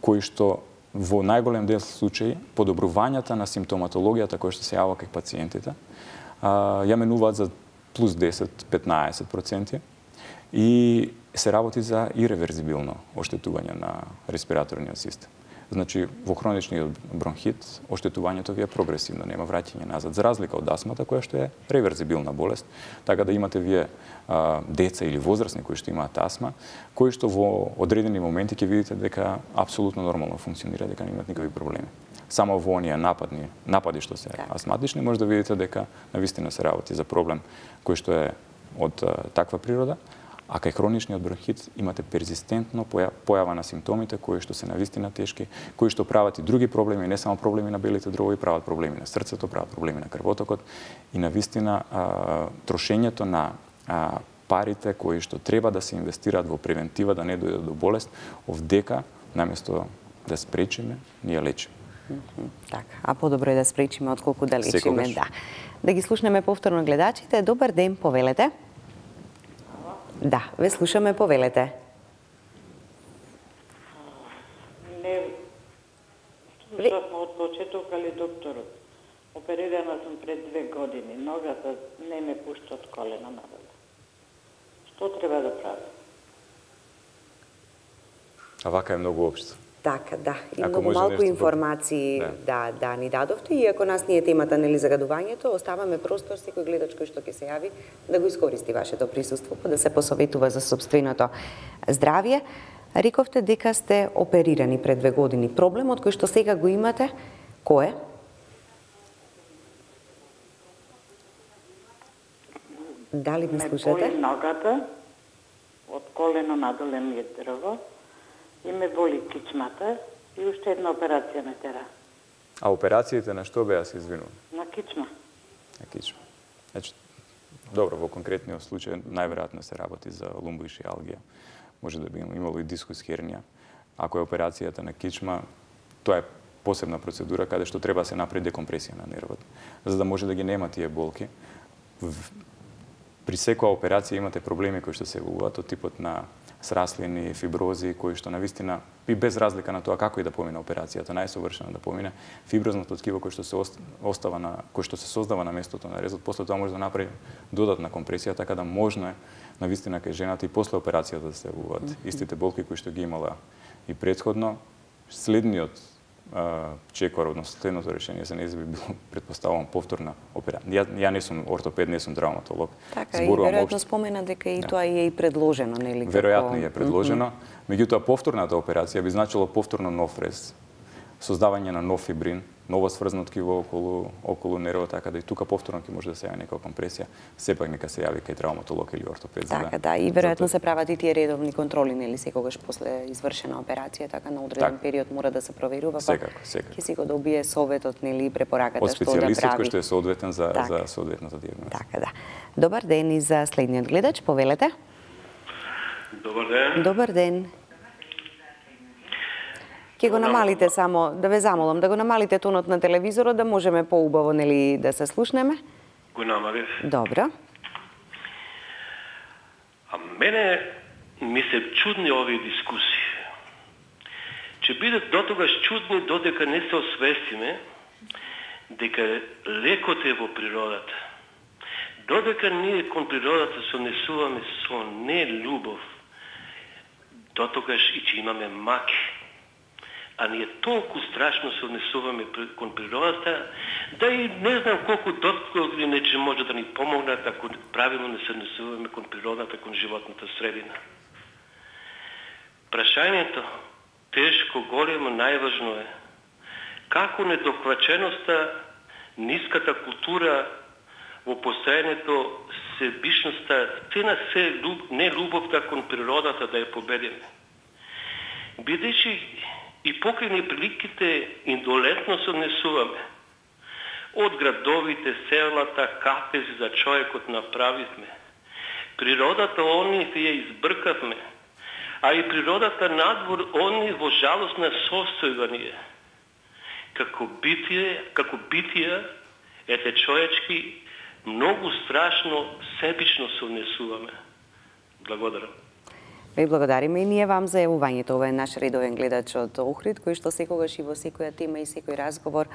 кои што во најголем дел случаи подобрувањата на симптоматологијата која што се јавува кај пациентите а, ја менуваат за плюс десет до петнаесет проценти и се работи за иреверзибилно оштетување на респираторниот систем. Значи, во хроничниот бронхит, оштетувањето ви е прогресивно, нема враќање назад, за разлика од астмата, која што е реверзибилна болест, така да имате вие а, деца или возрастни кои што имаат астма, кои што во одредени моменти ќе видите дека апсолутно нормално функционира, дека не имат никакви проблеми. Само во оние нападни, напади што се астматични, може да видите дека навистина се работи за проблем кој што е од а, таква природа, а кај хроничниот бронхит имате перзистентно појава на симптомите кои што се навистина тешки, кои што прават и други проблеми, не само проблеми на белите дробови, прават проблеми на срцето, прават проблеми на крвотокот и навистина а, трошењето на а, парите кои што треба да се инвестираат во превентива да не дојде до болест, овдека наместо да спречиме, ние лечиме. Така, а подобро е да спречиме отколку да лечиме, Секогаш. да. Да ги слушнеме повторно гледачите. Добар ден, повелете. Да, ве слушаме, повелете. Не, слушавме од почеток, али докторот. Оперирана сум пред две години. Ногата не ме пушта од колено надоле. Што треба да правам? А вака е многу општо. Така, да. И Ако многу може малку нешто информации да. да, да ни дадовте, и ако нас не е темата нели загадувањето, оставаме простор секој гледач кој што ќе се јави да го искористи вашето присуство, па да се посоветува за сопственото здравје. Рековте дека сте оперирани пред две години. Проблемот кој што сега го имате, кој е? Дали ме слушате? Ме боли ногата, од колено надоле ми е дрво, и ме боли кичмата и уште една операција ме тера. А операциите на што беа, се извинувам? На кичма. На кичма. Значи, добро, во конкретниот случај најверојатно се работи за лумбоишиалгија. Може да би имало и дискус хернија. Ако е операцијата на кичма, тоа е посебна процедура каде што треба да се направи декомпресија на нервот, за да може да ги нема тие болки. при секоја операција имате проблеми кои што се јавуваат од типот на сраслини, фибрози, кои што навистина и без разлика на тоа како и да помине операцијата, најсовршено да помине, фиброзното ткиво кој што се остава на кој што се создава на местото на резот, после тоа може да направи додатна компресија, така да можно е навистина кај жената и после операцијата да се јавуваат mm -hmm. истите болки кои што ги имала и претходно. Следниот чекор, односно следното решение за нејзе би било, предпоставувам, повторна операција. Ја, ја не сум ортопед, не сум травматолог. Така, Зборувам и веројатно обш... спомена дека и да. тоа е и предложено, нели? Веројатно како... е предложено, mm -hmm. меѓутоа повторната операција би значило повторно нов рез, создавање на нов фибрин, ново сврзано ткиво околу околу нервот, така да и тука повторно ќе може да се јави некоја компресија, сепак нека се јави кај травматолог или ортопед. Така, да, да, и веројатно се прават и тие редовни контроли, нели, секогаш после извршена операција, така на одреден так. период мора да се проверува. Секако, секако. Ќе си го добие советот, нели, и препораката од што да прави. Од специјалистот кој што е соодветен за так. за соодветната дијагноза. Така, да. Добар ден и за следниот гледач, повелете. Добар ден. Добар ден. Ке го намалите само, да ве замолам, да го намалите тонот на телевизорот, да можеме поубаво, нели, да се слушнеме. Го намалив. Добро. А мене ми се чудни овие дискусии. Че бидат дотогаш чудни додека не се освестиме дека лекот е во природата. Додека ние кон природата се однесуваме со нелюбов, дотогаш и че имаме маки, а ние толку страшно се однесуваме кон природата, да и не знам колку дотколи нече може да ни помогнат ако правилно не се однесуваме кон природата, кон животната средина. Прашањето, тешко, големо, најважно е како недохваченоста, ниската култура во постојањето, себичноста, те на се люб, не любовта кон природата да ја победиме. Бидејќи и покрај неприликите индолентно се однесуваме. Од градовите, селата, кафези за човекот направивме. Природата они ја избркавме, а и природата надвор они во жалостна состојба ни е. Како битие, како битија, ете човечки, многу страшно, себично се однесуваме. Благодарам. Ви благодариме и ние вам за јавувањето. Ова е наш редовен гледач од Охрид, кој што секогаш и во секоја тема и секој разговор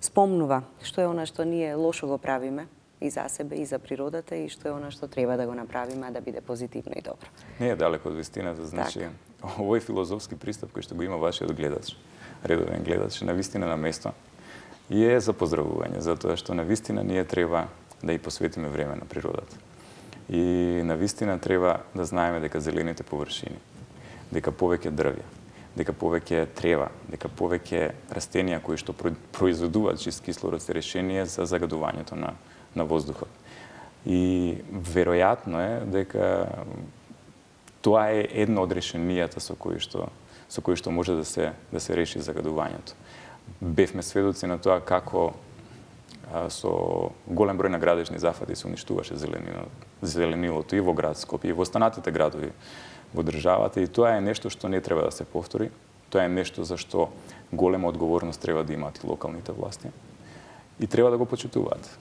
спомнува што е она што ние лошо го правиме и за себе, и за природата, и што е она што треба да го направиме да биде позитивно и добро. Не е далеко од вистината, значи овој филозофски пристап кој што го има вашиот гледач, редовен гледач, на вистина на место и е за поздравување, затоа што на вистина ние треба да и посветиме време на природата. И на вистина треба да знаеме дека зелените површини, дека повеќе дрвја, дека повеќе трева, дека повеќе растенија кои што произведуваат чист кислород се решение за загадувањето на на воздухот. И веројатно е дека тоа е едно од решенијата со кои што со кои што може да се да се реши загадувањето. Бевме сведоци на тоа како со голем број на градежни зафати се уништуваше зеленилото и во град Скопје и во останатите градови во државата, и тоа е нешто што не треба да се повтори. Тоа е нешто за што голема одговорност треба да имаат и локалните власти и треба да го почитуваат.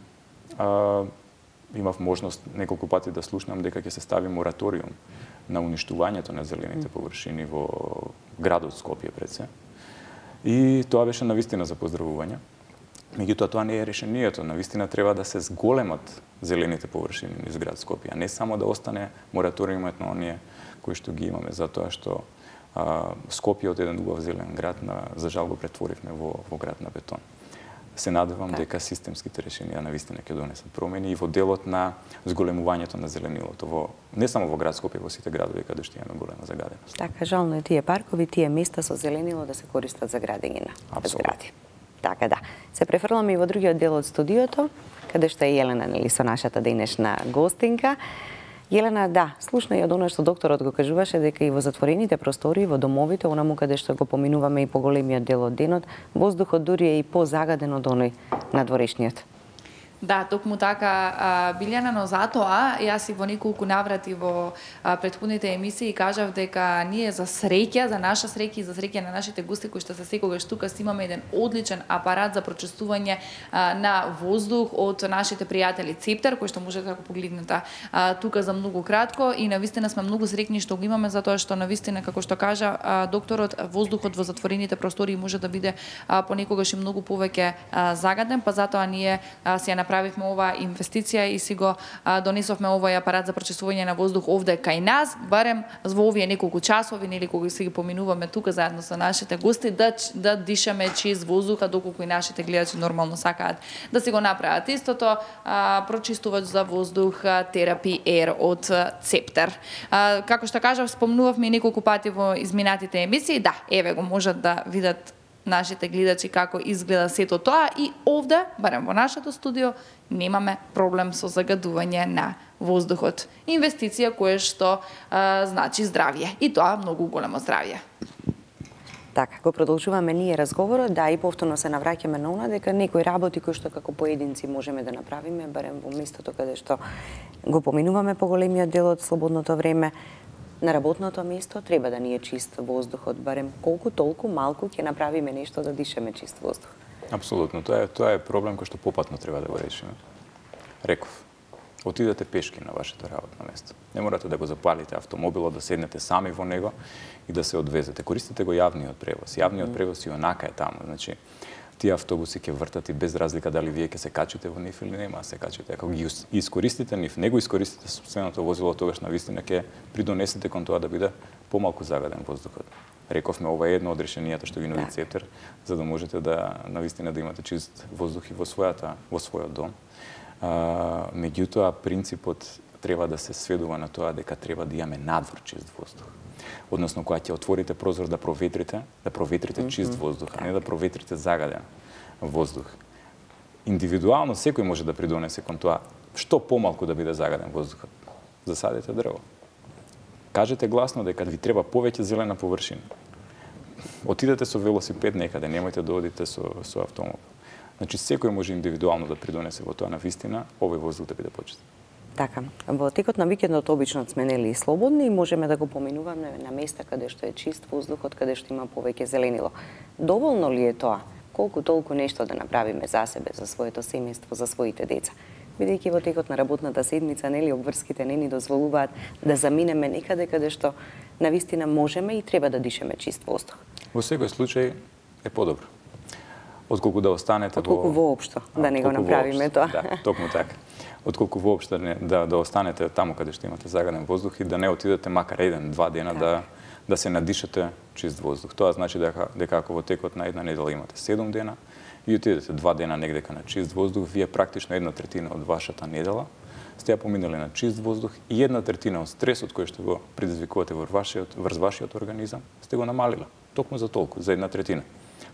А, имав можност неколку пати да слушнам дека ќе се стави мораториум на уништувањето на зелените површини во градот Скопје пред се. И тоа беше навистина за поздравување. Меѓутоа тоа не е решението. Навистина треба да се зголемат зелените површини низ град Скопје, а не само да остане мораториумот на оние кои што ги имаме, затоа што а, Скопје од еден убав зелен град на за жал го претворивме во во град на бетон. Се надевам так. дека системските решенија навистина ќе донесат промени и во делот на зголемувањето на зеленилото во не само во град Скопје, во сите градови каде што имаме голема загаденост. Така, жално е тие паркови, тие места со зеленило да се користат за градење на згради. Така да. Се префрламе и во другиот дел од студиото, каде што е Јелена, нели, со нашата денешна гостинка. Јелена, да, слушна и од она што докторот го кажуваше, дека и во затворените простори, во домовите, онаму каде што го поминуваме и поголемиот дел од денот, воздухот дури е и позагаден од оној надворешниот. Да, токму така, а, Билјана, но затоа јас и во неколку наврати во а, претходните емисии кажав дека ние за среќа, за наша среќа и за среќа на нашите гости кои што се секогаш тука си имаме еден одличен апарат за прочистување а, на воздух од нашите пријатели Цептер, кој што можете да го погледнете а, тука за многу кратко и навистина сме многу среќни што го имаме затоа што навистина како што кажа а, докторот, воздухот во затворените простори може да биде а, понекогаш и многу повеќе а, загаден, па затоа ние а, си ја направивме оваа инвестиција и си го а, донесовме овој апарат за прочистување на воздух овде кај нас, барем во овие неколку часови, нели кога си ги поминуваме тука заедно со нашите гости, да да дишаме чист воздух, а доколку и нашите гледачи нормално сакаат да си го направат истото, а, прочистувач за воздух Therapy Air од Цептер. А, како што кажав, спомнувавме и неколку пати во изминатите емисии, да, еве го можат да видат нашите гледачи како изгледа сето тоа и овде, барем во нашето студио, немаме проблем со загадување на воздухот. Инвестиција која што а, значи здравје и тоа многу големо здравје. Така, го продолжуваме ние разговорот, да, и повторно се навраќаме на она дека некои работи кои што како поединци можеме да направиме, барем во местото каде што го поминуваме поголемиот дел од слободното време, на работното место треба да ни е чист воздухот, барем колку толку малку ќе направиме нешто да дишаме чист воздух. Апсолутно, тоа е тоа е проблем кој што попатно треба да го решиме. Реков, отидете пешки на вашето работно место. Не морате да го запалите автомобилот, да седнете сами во него и да се одвезете. Користите го јавниот превоз. Јавниот превоз и онака е таму, значи тие автобуси ќе вртат и без разлика дали вие ќе се качите во нив или нема се качите. Ако ги искористите нив, не го искористите сопственото возило, тогаш навистина ќе придонесете кон тоа да биде помалку загаден воздухот. Рековме, ова е едно од решенијата што ги нуди Цептер, за да можете да навистина да имате чист воздух и во својата во својот дом. А, меѓутоа принципот треба да се сведува на тоа дека треба да имаме надвор чист воздух. Односно, кога ќе отворите прозор да проветрите, да проветрите чист воздух, а не да проветрите загаден воздух. Индивидуално секој може да придонесе кон тоа што помалку да биде загаден воздухот. Засадете дрво. Кажете гласно дека ви треба повеќе зелена површина. Отидете со велосипед некаде, немојте да одите со со автомобил. Значи секој може индивидуално да придонесе во тоа навистина овој воздух да биде почист. Така, во текот на викендот обично сме нели слободни и можеме да го поминуваме на места каде што е чист воздухот, каде што има повеќе зеленило. Доволно ли е тоа? Колку толку нешто да направиме за себе, за своето семејство, за своите деца? Бидејќи во текот на работната седмица нели обврските не ни дозволуваат да заминеме некаде каде што навистина можеме и треба да дишеме чист воздух. Во секој случај е подобро. Отколку да останете Отколку во воопшто да не го направиме тоа. Да, токму така. Отколку воопшто не, да да останете таму каде што имате загаден воздух и да не отидете макар еден, два дена так. да да се надишате чист воздух. Тоа значи дека дека ако во текот на една недела имате седум дена и отидете два дена негдека на чист воздух, вие практично една третина од вашата недела сте ја поминали на чист воздух и една третина од стресот кој што го предизвикувате во вашиот врз вашиот организам сте го намалила. Токму за толку, за една третина.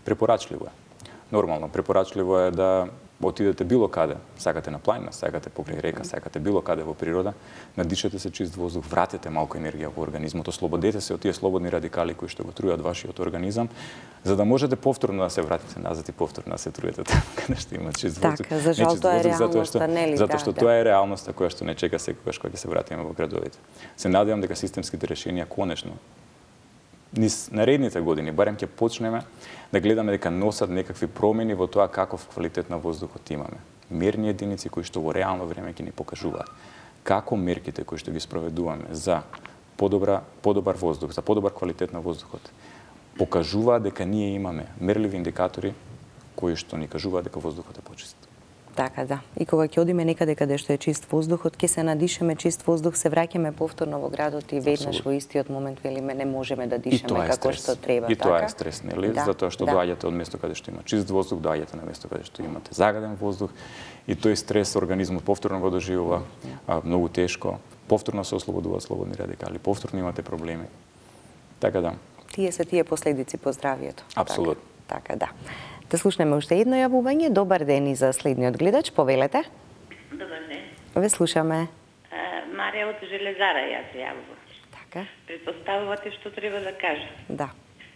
Препорачливо е. Нормално, препорачливо е да отидете било каде, сакате на планина, сакате покрај река, сакате било каде во природа, надишете се чист воздух, вратете малку енергија во организмот, ослободете се од тие слободни радикали кои што го трујат вашиот организам, за да можете повторно да се вратите назад и повторно да се труете таму каде што има чист воздух. Така, за жал тоа е реалноста, нели? Затоа што да, тоа е реалноста која што не чека секогаш кога ќе се вратиме во градовите. Се надевам дека системските решенија конечно низ наредните години барем ќе почнеме да гледаме дека носат некакви промени во тоа каков квалитет на воздухот имаме. Мерни единици кои што во реално време ќе ни покажуваат како мерките кои што ги спроведуваме за подобра подобар воздух, за подобар квалитет на воздухот покажуваат дека ние имаме мерливи индикатори кои што ни кажуваат дека воздухот е почист. Така, да. И кога ќе одиме некаде каде што е чист воздухот, ќе се надишеме чист воздух, се враќаме повторно во градот и веднаш во истиот момент велиме не можеме да дишаме како што треба. И тоа е стрес, нели? Да, затоа што да. доаѓате од место каде што има чист воздух, доаѓате на место каде што имате загаден воздух и тој стрес организмот повторно го доживува а, многу тешко, повторно се ослободуваат слободни радикали, повторно имате проблеми. Така да. Тие се тие последици по здравјето. Апсолутно. Така, така да. Да слушнеме уште едно јавување. Добар ден и за следниот гледач. Повелете. Добар ден. Ве слушаме. А, Марија од Железара ја се јавувам. Така. Предпоставувате што треба да кажам. Да.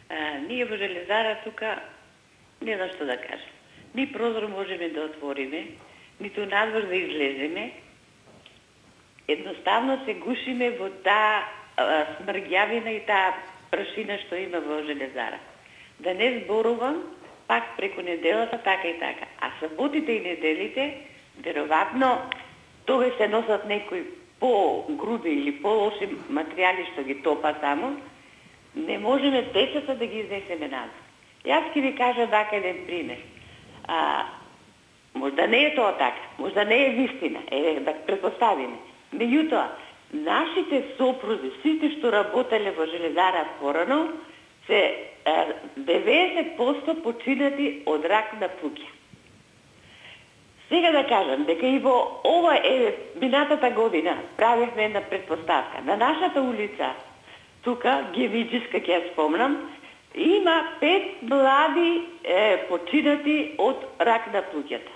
А, ние во Железара тука не знам што да кажам. Ни прозор можеме да отвориме, ниту надвор да излеземе. Едноставно се гушиме во таа смрѓавина и таа прашина што има во железара. Да не зборувам пак преку неделата така и така. А саботите и неделите, веројатно, тогаш се носат некои по-груди или по-лоши материјали што ги топа таму, не можеме децата да ги изнесеме назад. Јас ќе ви кажа дака еден пример. А, можда не е тоа така, можда не е вистина, е да предпоставиме. Меѓутоа, нашите сопрузи, сите што работеле во железара порано, се деветдесет проценти починати од рак на плуќа. Сега да кажам дека и во ова е минатата година правевме една предпоставка. На нашата улица, тука, Гевиджиска, ќе ја спомнам, има пет млади е, починати од рак на плуќата.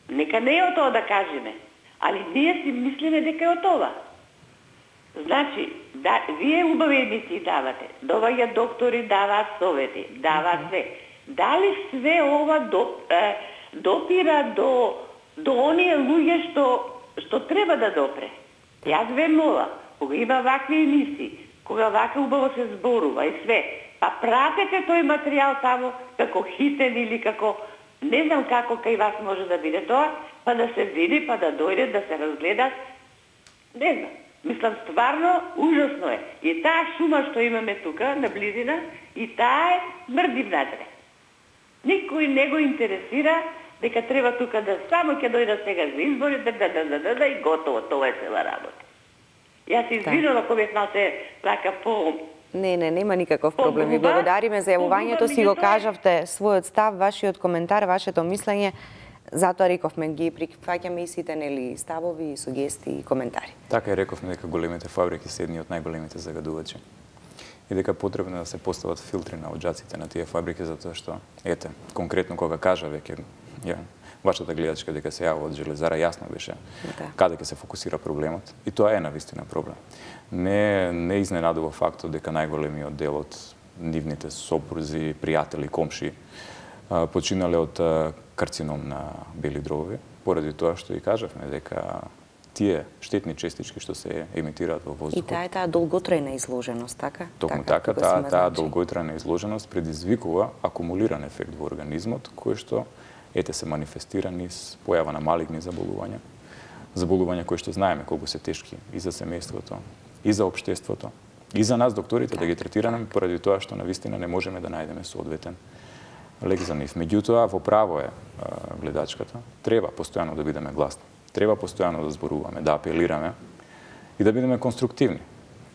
Нека не е од тоа да кажеме, али ние си мислиме дека е од това. Значи, да, вие убави емисии давате, доаѓа доктори, даваат совети, даваат све. Дали све ова до, е, допира до, до оние луѓе што, што треба да допре? Јас ве мола, кога има вакви емисии, кога вака убаво се зборува и све, па пратете тој материјал само како хитен или како, не знам како кај вас може да биде тоа, па да се види, па да дојде, да се разгледа, не знам. Мислам, стварно, ужасно е. И таа шума што имаме тука, на близина, и таа е смрди внатре. Никој не го интересира дека треба тука да само ќе дојда сега за избори, да, да, да, да, да, да, и готово, тоа е цела работа. Јас се извинувам ако бев малце така по... Не, не, нема никаков проблем. Ви благодариме за јавувањето, си го кажавте својот став, вашиот коментар, вашето мислење. Затоа рековме ги прифаќаме и сите нели ставови, сугестии и коментари. Така и рековме дека големите фабрики се едни од најголемите загадувачи. И дека потребно да се постават филтри на оџаците на тие фабрики, затоа што, ете, конкретно кога кажа веќе ја, вашата гледачка дека се јава од железара, јасно беше да. Каде ќе се фокусира проблемот. И тоа е навистина проблем. Не, не изненадува фактот дека најголемиот дел од нивните сопрузи, пријатели, комши починале од карцином на бели дробови, поради тоа што и кажавме дека тие штетни честички што се емитираат во воздухот. И таа е таа долготрајна изложеност, така? Токму така, таа таа долготрајна изложеност предизвикува акумулиран ефект во организмот, кој што ете се манифестира низ појава на малигни заболувања, заболувања кои што знаеме колку се тешки и за семејството, и за општеството, и за нас докторите да ги третираме, поради тоа што навистина не можеме да најдеме соодветен лек за нив. Меѓутоа, во право е гледачката, треба постојано да бидеме гласни, треба постојано да зборуваме, да апелираме и да бидеме конструктивни,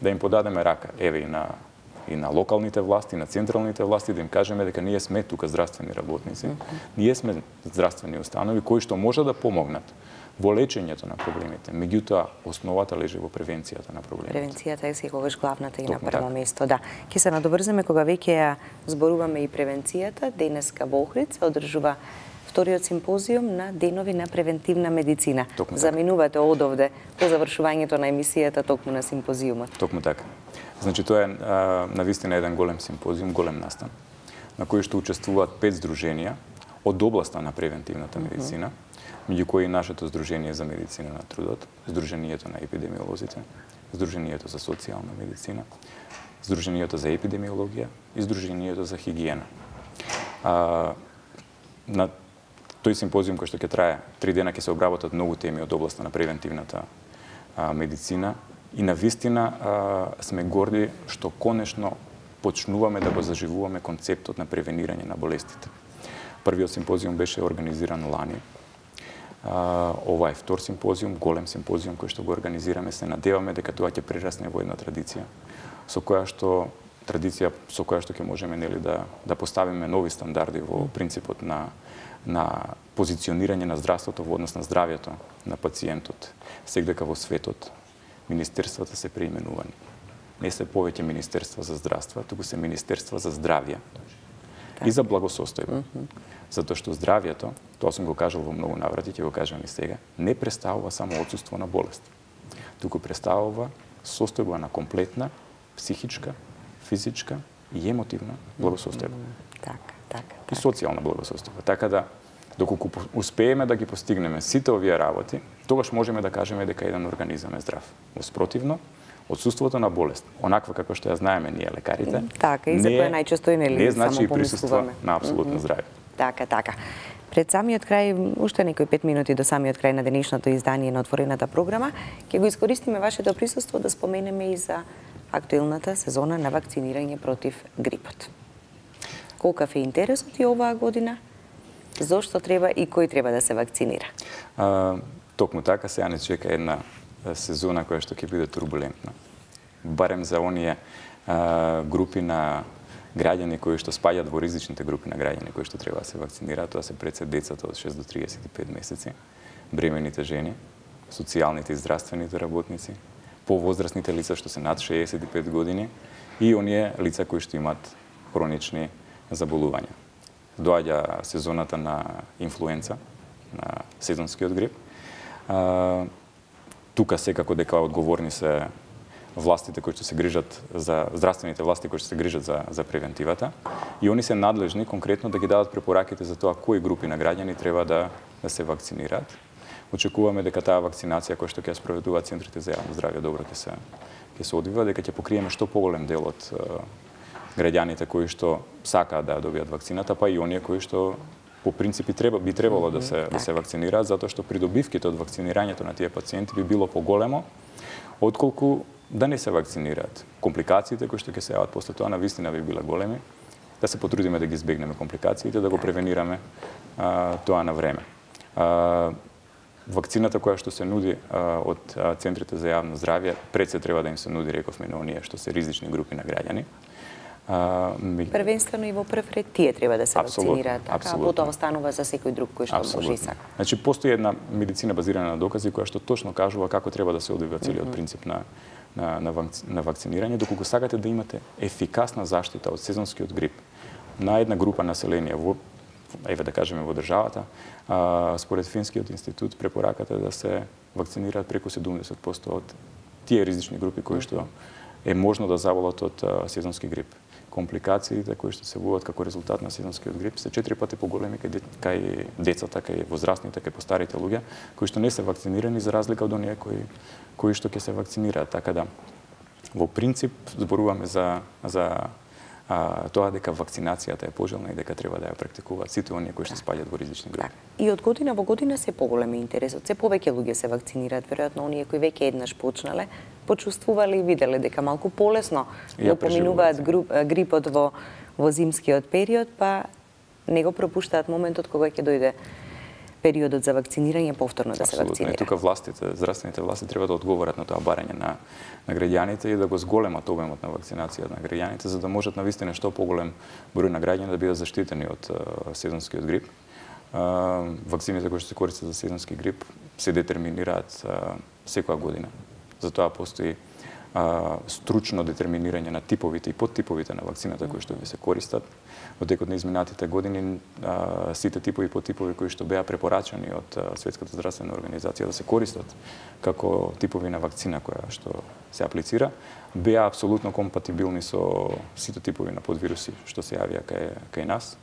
да им подадеме рака, еве и на и на локалните власти, и на централните власти, да им кажеме дека ние сме тука здравствени работници, ние сме здравствени установи кои што може да помогнат во лечењето на проблемите. Меѓутоа, основата лежи во превенцијата на проблемите. Превенцијата е секогаш главната и на прво место. Да. Ке се надоврземе кога веќе ја зборуваме и превенцијата. Денеска во Охрид се одржува вториот симпозиум на денови на превентивна медицина. Токму Заминувате така. Одовде по завршувањето на емисијата токму на симпозиумот. Токму така. Значи тоа е навистина еден голем симпозиум, голем настан, на кој што учествуваат пет здруженија од областа на превентивната медицина, меѓу кои нашето Здружение за медицина на трудот, Здруженијето на епидемиолозите, Здруженијето за социјална медицина, Здруженијето за епидемиологија и Здруженијето за хигиена. А, на тој симпозиум кој што ќе трае три дена ќе се обработат многу теми од областа на превентивната а, медицина и навистина а, сме горди што конечно почнуваме да го заживуваме концептот на превенирање на болестите. Првиот симпозиум беше организиран лани. Uh, ова е втор симпозиум, голем симпозиум кој што го организираме, се надеваме дека тоа ќе прерасне во една традиција, со која што традиција со која што ќе можеме нели да да поставиме нови стандарди во принципот на на позиционирање на здравството во однос на здравјето на пациентот. Сегдека во светот министерствата се преименувани. Не се повеќе министерства за здравство, туку се министерства за здравје и за благосостојба. Затоа што здравјето, тоа сум го кажал во многу наврати, ќе го кажам и сега, не представува само отсуство на болест. Туку представува состојба на комплетна психичка, физичка и емотивна благосостојба. Така, така. И социјална благосостојба. Така да Доколку успееме да ги постигнеме сите овие работи, тогаш можеме да кажеме дека еден организам е здрав. Воспротивно, отсуството на болест, онаква како што ја знаеме ние лекарите, така и за која најчесто и нели не значи и само присуство помислуваме на апсолутно здравје. Така, така. Пред самиот крај, уште некои пет минути до самиот крај на денешното издание на отворената програма, ќе го искористиме вашето присуство да споменеме и за актуелната сезона на вакцинирање против грипот. Колкав е интересот и оваа година? Зошто треба и кој треба да се вакцинира? А, токму така, сега не чека една сезона која што ќе биде турбулентна. Барем за оние а, групи на граѓани кои што спаѓаат во ризичните групи на граѓани кои што треба да се вакцинираат, тоа се пред се децата од шест до триесет и пет месеци, бремените жени, социјалните и здравствените работници, повозрастните лица што се над шеесет и пет години и оние лица кои што имаат хронични заболувања. Доаѓа сезоната на инфлуенца, на сезонскиот грип. А, тука секако дека одговорни се властите кои што се грижат за здравствените власти кои што се грижат за за превентивата и они се надлежни конкретно да ги дадат препораките за тоа кои групи на граѓани треба да да се вакцинираат. Очекуваме дека таа вакцинација која што ќе спроведуваат центрите за јавно здравје добро ќе се ќе се одвива, дека ќе покриеме што поголем дел од граѓаните кои што сакаат да добијат вакцината, па и оние кои што по принципи треба би требало да се да се вакцинираат затоа што придобивките од вакцинирањето на тие пациенти би било поголемо отколку да не се вакцинираат. Компликациите кои што ќе се јават после тоа навистина би биле големи. Да се потрудиме да ги избегнеме компликациите, да го превенираме а, тоа на време. А, вакцината која што се нуди а, од а, центрите за јавно здравје пред се треба да им се нуди, рековме, на оние што се ризични групи на граѓани. А, ми... Првенствено и во прв ред тие треба да се абсолютно, вакцинираат, така, а потоа останува за секој друг кој што може и сака. Значи, постои една медицина базирана на докази која што точно кажува како треба да се одвива целиот mm -hmm. принцип на на на, вакци... на вакцинирање, доколку сакате да имате ефикасна заштита од сезонскиот грип на една група население во еве да кажеме во државата, а, според Финскиот институт препораката е да се вакцинираат преку седумдесет проценти од тие ризични групи кои што е можно да заболат од а, сезонски грип. Компликациите кои што се јавуваат како резултат на сезонскиот грип се четири пати поголеми кај, кај децата, кај возрастните, кај постарите луѓе, кои што не се вакцинирани за разлика од оние кои кои што ќе се вакцинираат. Така да во принцип зборуваме за за а, тоа дека вакцинацијата е пожелна и дека треба да ја практикуваат сите оние кои што спаѓаат во ризични групи. И од година во година се поголем интересот, се повеќе луѓе се вакцинираат, веројатно оние кои веќе еднаш почнале, почувствувале и виделе дека малку полесно го поминуваат грипот во во зимскиот период, па не го пропуштаат моментот кога ќе дојде периодот за вакцинирање повторно да се вакцинира. И тука властите, здравствените власти треба да одговорат на тоа барање на на граѓаните и да го зголемат обемот на вакцинација на граѓаните за да можат навистина што поголем број на граѓани да бидат заштитени од uh, сезонскиот грип. Uh, вакцините кои што се користат за сезонски грип се детерминираат uh, секоја година. Затоа постои а, стручно детерминирање на типовите и подтиповите на вакцината кои што ви се користат. Во текот на изминатите години а, сите типови и подтипови кои што беа препорачани од а, Светската здравствена организација да се користат како типови на вакцина која што се аплицира, беа апсолутно компатибилни со сите типови на подвируси што се јавија кај, кај нас.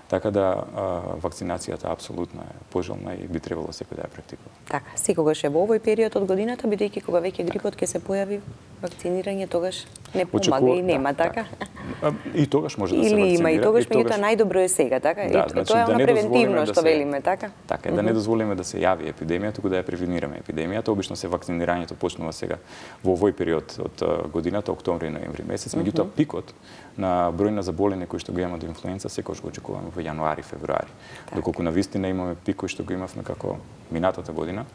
Така да а, вакцинацијата апсолутно е пожелна и би требало секој да ја практикува. Така, секогаш е во овој период од годината, бидејќи кога веќе грипот ќе се појави, вакцинирање тогаш не помага и нема, да, така? Да. И тогаш може да се вакцинира. Или има и тогаш, и тогаш... меѓутоа најдобро е сега, така? Да, и значи, тоа е да она превентивно да што се... велиме, така? Така е, да не дозволиме да се јави епидемија, туку да ја превенираме епидемијата. Обично се вакцинирањето почнува сега во овој период од годината, октомври и ноември месец, меѓутоа пикот на број на заболени кои што го имаат до инфлуенца секогаш го очекуваме во јануари, февруари. Так. Доколку навистина имаме пик кој што го имавме како минатата година,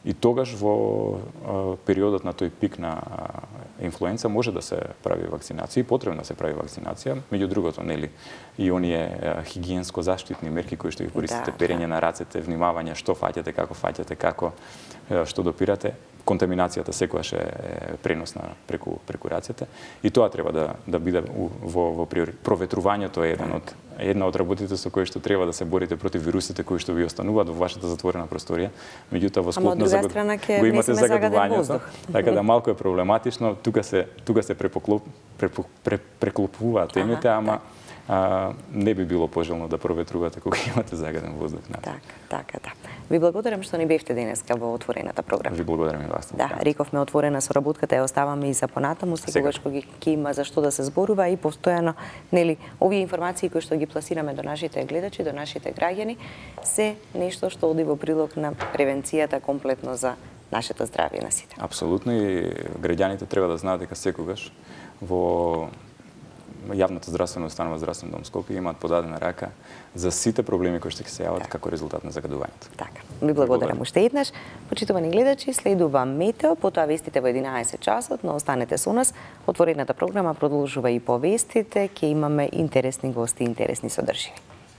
и тогаш во а, периодот на тој пик на а, инфлуенца може да се прави вакцинација и потребно да се прави вакцинација. Меѓу другото, нели, и оние а, хигиенско заштитни мерки кои што ги користите, да, перење да. на рацете, внимавање што фаќате, како фаќате, како а, што допирате. Контаминацијата секогаш е преносна преку преку рацете и тоа треба да да биде во во проветрувањето е еден од една од работите со кои што треба да се борите против вирусите кои што ви остануваат во вашата затворена просторија, меѓутоа во склоп на загад... го имате загадувањето, така да малку е проблематично, тука се тука се препоклоп преклопуваат темите, ама а, не би било пожелно да проветрувате кога имате загаден воздух. Така, така, да. Ви благодарам што ни бевте денеска во отворената програма. Ви благодарам и вас. Да, рековме отворена соработката ја оставаме и за понатаму, секогаш кога ќе има за што да се зборува и постојано, нели, овие информации кои што ги пласираме до нашите гледачи, до нашите граѓани, се нешто што оди во прилог на превенцијата комплетно за нашето здравје на сите. Апсолутно, и граѓаните треба да знаат дека секогаш во јавната здравствена установа Здравствен дом Скопје имаат подадена рака за сите проблеми кои што ќе се јават така, како резултат на загадувањето. Така. Ви благодарам уште еднаш. Почитувани гледачи, следува метео, потоа вестите во единаесет часот, но останете со нас. Отворената програма продолжува и по вестите, ќе имаме интересни гости, интересни содржини.